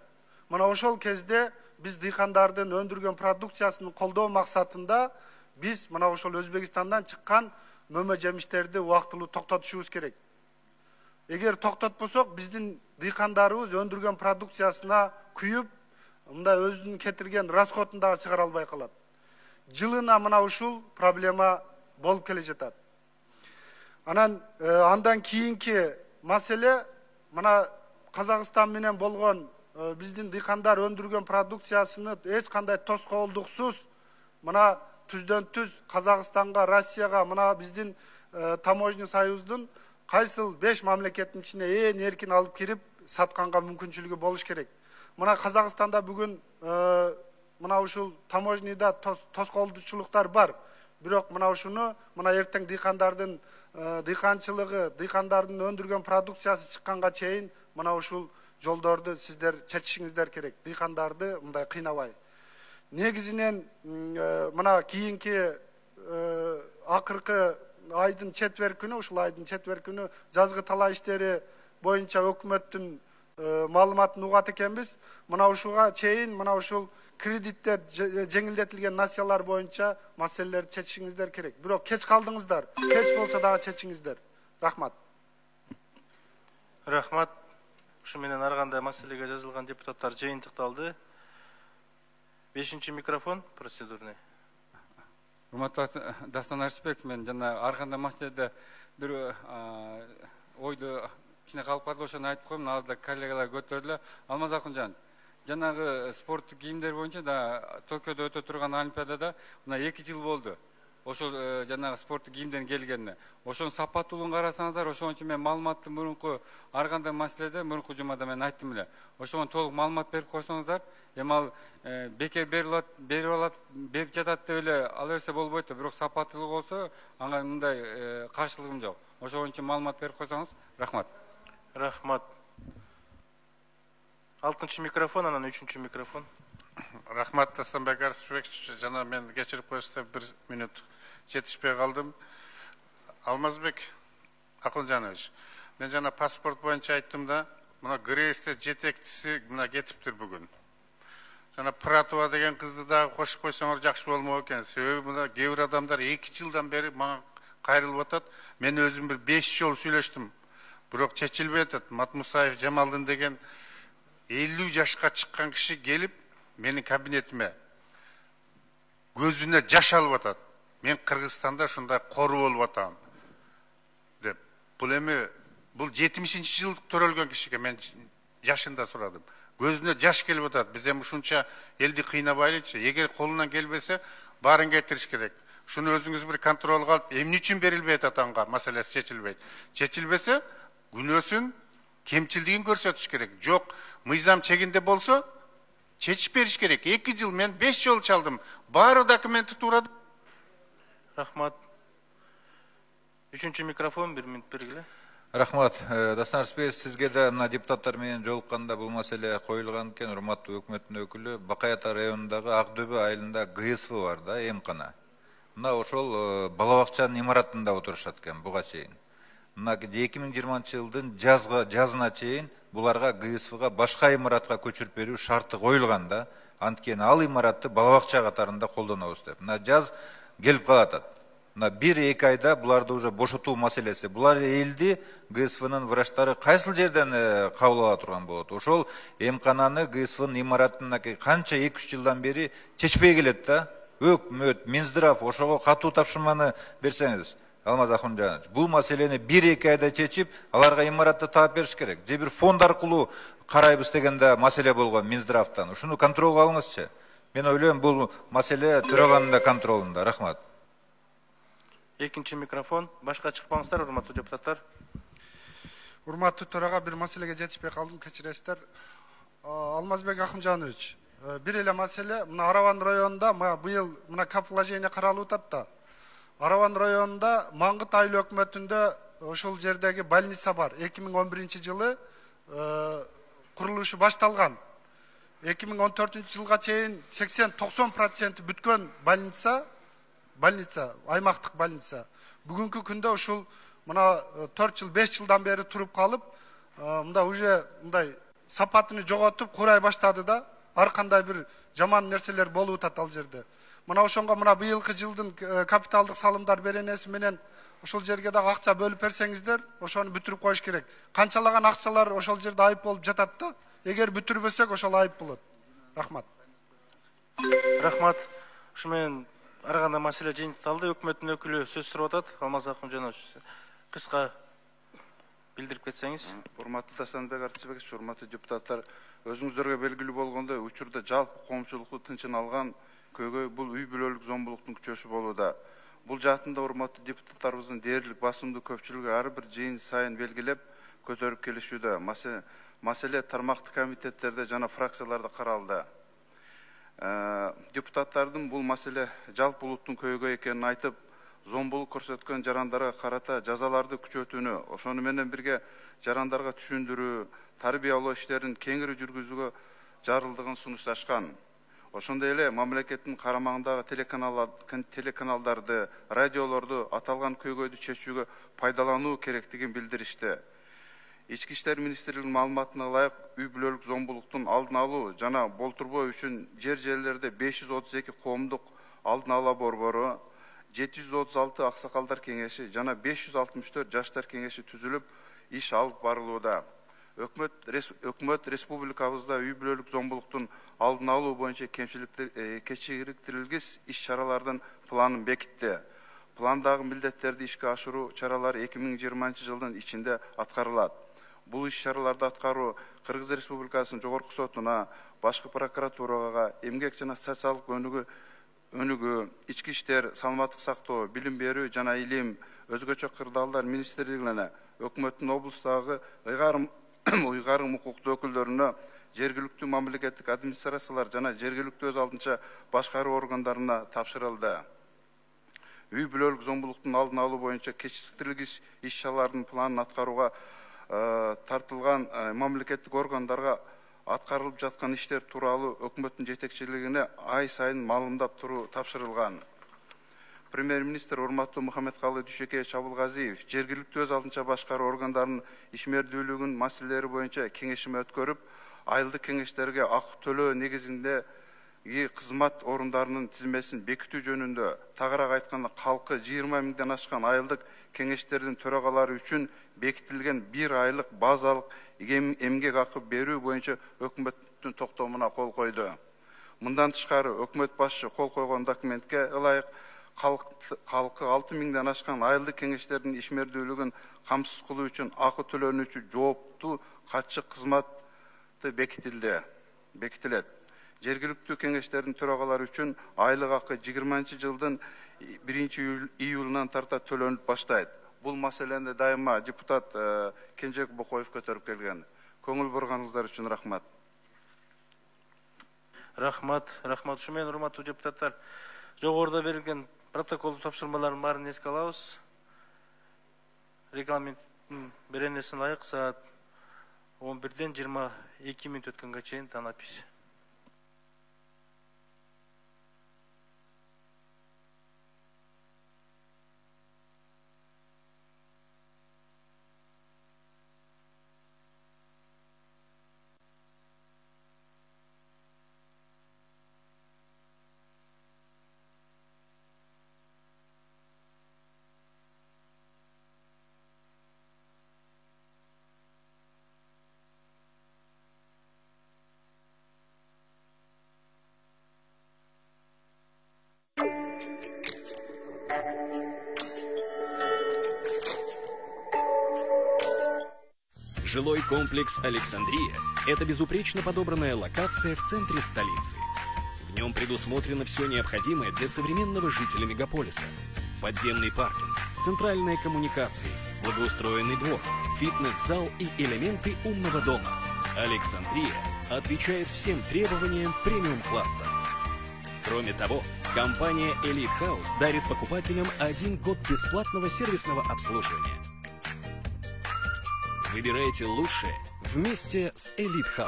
Мына ошол кезде биз дыйкандардын өндүргөн продукциясын колдоо максатында биз мына ошол Өзбекистандан чыккан мөмө жемиштерди убактылуу токтотушубуз керек. Эгер токтотпосок, биздин дыйкандарыбыз өндүргөн продукциясына күйүп, мындай өзүнүн кетирген расходун дагы чыгара албай калат. Жылына мына ушул проблема болуп келе жатат. Андан кийинки маселе, мына Казакстан менен болгон биздин дыйкандар өндүргөн продукциясыны эч кандай тоскоолдуксуз мына түздөн-түз Казакстанга, Россияга, мына биздин таможня союздун кайсыл 5 мамлекеттин ичине эң эркин алып кирип сатканга мүмкүнчүлүгү болуш керек. Мына Казакстанда бүгүн мына ушул таможняда тоскоолдучулуктар бар. Бирок мына ушуну мына эртең дыйкандардын дыйканчылыгы, дыйкандардын өндүргөн продукциясы чыкканга чейин мына ушул жолдорду сиздер чечишиңиздер керек. Дыйкандарды мындай кыйнабай. Негизинен мына кийинки акыркы айдын четверг күнү, ушул айдын четверг күнү жазгы талаа иштери боюнча өкмөттүн маалыматын угат экенбиз. Мына ушуга чейин мына ушул кредиттер, жеңилдетилген насыялар боюнча маселелерди чечишиңиздер керек. Бирок кеч калдыңыздар. Кеч болсо дагы чечиңиздер. Рахмат. Рахмат. Ушу менен ар кандай маселеге жазылган депутаттар жыйынтыкталды. 5-чи микрофон процедурный. Урматтуу Дастан Арыспек, мен жана ар кандай маселеде бир ойду кичине калып калды, ошону айтып коем, азыр коллегалар көтөрдүлөр. Алмаз Акынжанович, жанагы спорттук кийимдер боюнча да Токиодо өтө турган олимпиадада мына 2 жыл болду. Ошол жанагы спорттук кийимдердин келгенине. Ошонун сапаттуулугун карасаңыздар, ошон үчүн мен маалыматты мурунку ар кандай маселеде мурунку жумада мен айттым эле. Ошону толук маалымат берип койсоңуздар, эми ал бекер берип жатат деп эле ала берсе болбойт да, бирок сапаттуулугу болсо, ага мындай каршылыгым жок. Ошон үчүн маалымат берип койсоңуз, рахмат. Рахмат. 6-чы микрофон, анан 3-чү микрофон. Рахмат, Дастанбек Арыспекович, жана мен кечирип коесуздар, 1 минут жетишпей калдым. Алмазбек Акынжанович, мен жана паспорт боюнча айттым да, мына Грейсте жетекчиси мына кетиптир бүгүн. Жана Пратова деген кызды дагы кошуп койсоңор жакшы болмок экен. Себеби мына кээ бир адамдар 2 жылдан бери мага кайрылып атат. Мен өзүм бир 5 жол сүйлөштүм. Бирок чечилбей атат. Матмусаев Жамалдын деген 50 жашка чыккан киши келип менин кабинетиме көзүнө жаш алып атат. Мен Кыргызстанда ушундай кору болуп атам деп. Бул эми бул 70-жылдык төрөлгөн кишиге мен жашында сурадым. Көзүнө жаш келип атат. Биз эми ушунча элди кыйнабайлычы. Эгер колунан келбесе, баарын кетириш керек. Шуну өзүңүз бир контролго алып, эмне үчүн берилбей атат анга маселеси чечилбейт. Чечилбесе, күнөөсүн, кемчилдигин көрсөтүш керек. Жок, мыйзам чегинде болсо, чечип бериш керек. 2 жыл мен 5 жол чалдым. Баары документи туурады. Рахмат. 3-чү микрофон 1 минут бергиле. Рахмат. Дастан Арыспеков, сизге да мына депутаттар менен жолукканда бул маселе коюлган экен. Урматтуу өкмөттүн өкүлү, Бакай Ата районундагы Ак Дөбө айылында ГСФ бар да, эмкана. Мына ошол бала бакчанын имаратында отурушат экен буга чейин. Мына 2020-жылдын жазына чейин буларга ГСФга башка имаратка көчүрүп берүү шарты коюлган да. Анткени ал имаратты бала бакча катарында колдонобуз деп. Мына жаз келип калатат. мына 1-2 айда буларды уже бошотуу маселеси. Булар элди ГСВнын врачтары кайсыл жерден кабыл ала турган болот? Ошол эмкананы ГСВнын имаратына канча 2-3 жылдан бери чечпей келет да. Өкмөт, Минздрав ошого катуу тапшырманы берсеңиз, Алмаз Ахунжанович, бул маселени 1-2 айда чечип, аларга имаратты таап бериш керек. Же бир фонд аркылуу карайбыз дегенде маселе болгон Минздравтан. Ушуну контролго алыңызчы. Мен ойлойм, бул маселе төраганын да контролунда. Рахмат. Экинчи микрофон. Башка чыкпаңыздар, урматтуу депутаттар. Урматтуу төрага, бир маселеге жетишпей калдым, кечиресиздер. Алмазбек Ахунжанович, бир эле маселе, мына Араван районунда быйыл мына капвложение каралып атат да. Араван районунда Маңгыт айыл өкмөтүндө ошол жердеги больница бар. 2011-жылы курулушу башталган. 2014-жылга чейин 80-90% бүткөн больница, аймактык больница. Бүгүнкү күндө ушул мына 4 жыл, 5 жылдан бери туруп калып, мында уже мындай сапатын жоготуп курай баштады да. Ар кандай бир жаман нерселер болуп атат ал жерде. Мына ошонго мына быйылкы жылдын капиталдык салымдар беренеси менен ошол жерге дагы акча бөлүп берсеңиздер, ошону бүтүрүп коюш керек. Канчалаган акчалар ошол жерде айып болуп жатат да. Эгер бүтүрбөсөк ошол айып болот. Рахмат. Рахмат. Ушу менен ар кандай маселе жыйынтыкталды. Өкмөттүн өкүлү сөз сурап атат. Алмаз Ахунжанович, кыска билдирип кетсеңиз. Урматтуу Тастанбек Артыбекович, урматтуу депутаттар, өзүңүздөргө белгилүү болгондой, учурда жалпы коомчулукту тынчын алган көйгөй бул үй бүлөлүк зомбулуктун күчөшү болууда. Бул жаатында урматтуу депутаттарыбыздын дээрлик басымдуу көпчүлүгү ар бир жыйын сайын белгилеп көтөрүп келишүүдө. Маселе тармактык комитеттерде жана фракцияларда каралды. Депутаттардын бул маселе жалпы улуттун көйгөй экенин айтып, зомбулук көрсөткөн жарандарга карата жазаларды күчөтүүнү, ошону менен бирге жарандарга түшүндүрүү, тарбиялоо иштерин кеңири жүргүзүүгө зарылдыгын сунушташкан. Ошондой эле мамлекеттин карамагындагы телеканалдарды, радиолорду аталган көйгөйдү чечүүгө пайдалануу керектигин билдиришти. Ички иштер министрлигинин маалыматына ылайык, үй бүлөлүк зомбулуктун алдын алуу жана болтурбоо үчүн жерлерде 532 коомдук алдын ала борбору, 736 аксакалдар кеңеши жана 564 жаштар кеңеши түзүлүп, иш алып барылууда. Өкмөт республикабызда үй бүлөлүк зомбулуктун алдын алуу боюнча кечириктирилгис иш чаралардын планын бекитти. Пландагы милдеттерди ишке ашыруу чаралары 2020 жылдын ичинде аткарылат. Бул иш чараларды аткаруу Кыргыз Республикасынын жогорку сотуна, башкы прокуратурага, эмгек жана социалдык өнүгүү, ички иштер, саламаттык сактоо, билим берүү жана илим, өзгөчө кырдаалдар министрлигине, өкмөттүн облустагы уйгарым укуктуу өкүлдөрүнө, жергиликтүү мамлекеттик администрациялар жана жергиликтүү өз алдынча башкаруу органдарына тапшырылды. Үй бүлөлүк зомбулуктун алдын алуу боюнча кечиктирилгис иш чаралардын планын аткарууга тартылган мамлекеттик органдарга аткарылып жаткан иштер тууралуу өкмөттүн жетекчилигине ай сайын маалымдап туруу тапшырылган. Премьер-министр урматтуу Мухаммедкалы Дүйшөкеевич Абылгазиев жергиликтүү өз алдынча башкаруу органдарынын ишмердүүлүгүнүн маселелери боюнча кеңешме өткөрүп, айылдык кеңештерге акы төлөө негизинде кызмат орундарынын тизмесин бекитүү жөнүндө, тагыраак айтканда калкы 20 миңден ашкан айылдык кеңештердин төрагалары үчүн бекитилген 1 айлык базалык эмгек акы берүү боюнча өкмөттүн токтомуна кол койду. Мындан тышкары өкмөт башчы кол койгон документке ылайык калкы 6 миңден ашкан айылдык кеңештердин ишмердүүлүгүн камсыз кылуу үчүн акы төлөнүүчү жооптуу катчы кызматы бекитилет. Жергиликтүү кеңештердин төрагалары үчүн айлык акы 20 жылдын 1 июлунан тарта төлөнүп баштайт. Бул маселени дайыма депутат Кенжебек Бокоев көтөрүп келген. Көңүл бурганыңыздар үчүн рахмат. Рахмат. Ушу менен урматтуу депутаттар, жогоруда берилген протокол тапшырмаларын баарын эске алабыз. Регламенттин беренесине ылайык саат 11-ден 22 мүнөт өткөнгө чейин танапис. Жилой комплекс «Александрия» – это безупречно подобранная локация в центре столицы. В нем предусмотрено все необходимое для современного жителя мегаполиса. Подземный паркинг, центральные коммуникации, благоустроенный двор, фитнес-зал и элементы умного дома. «Александрия» отвечает всем требованиям премиум-класса. Кроме того, компания Elite House дарит покупателям 1 год бесплатного сервисного обслуживания. Выбирайте лучшее вместе с Elite House.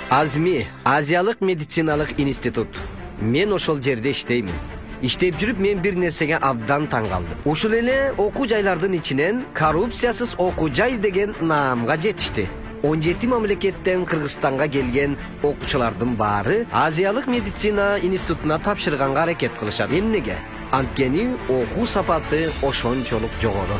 Азми, Азиялык медициналык институт. Мен ошол жерде иштеймин. Иштеп жүрүп мен бир нерсеге абдан таң калдым. Ушул эле окуу жайлардын ичинен коррупциясыз окуу жай деген наамга жетишти. 17 мамлекеттен Кыргызстанга келген окуучулардын баары Азиялык медицина институтуна тапшырганга аракет кылышат. Эмнеге? Анткени окуу сапаты ошончолук жогору.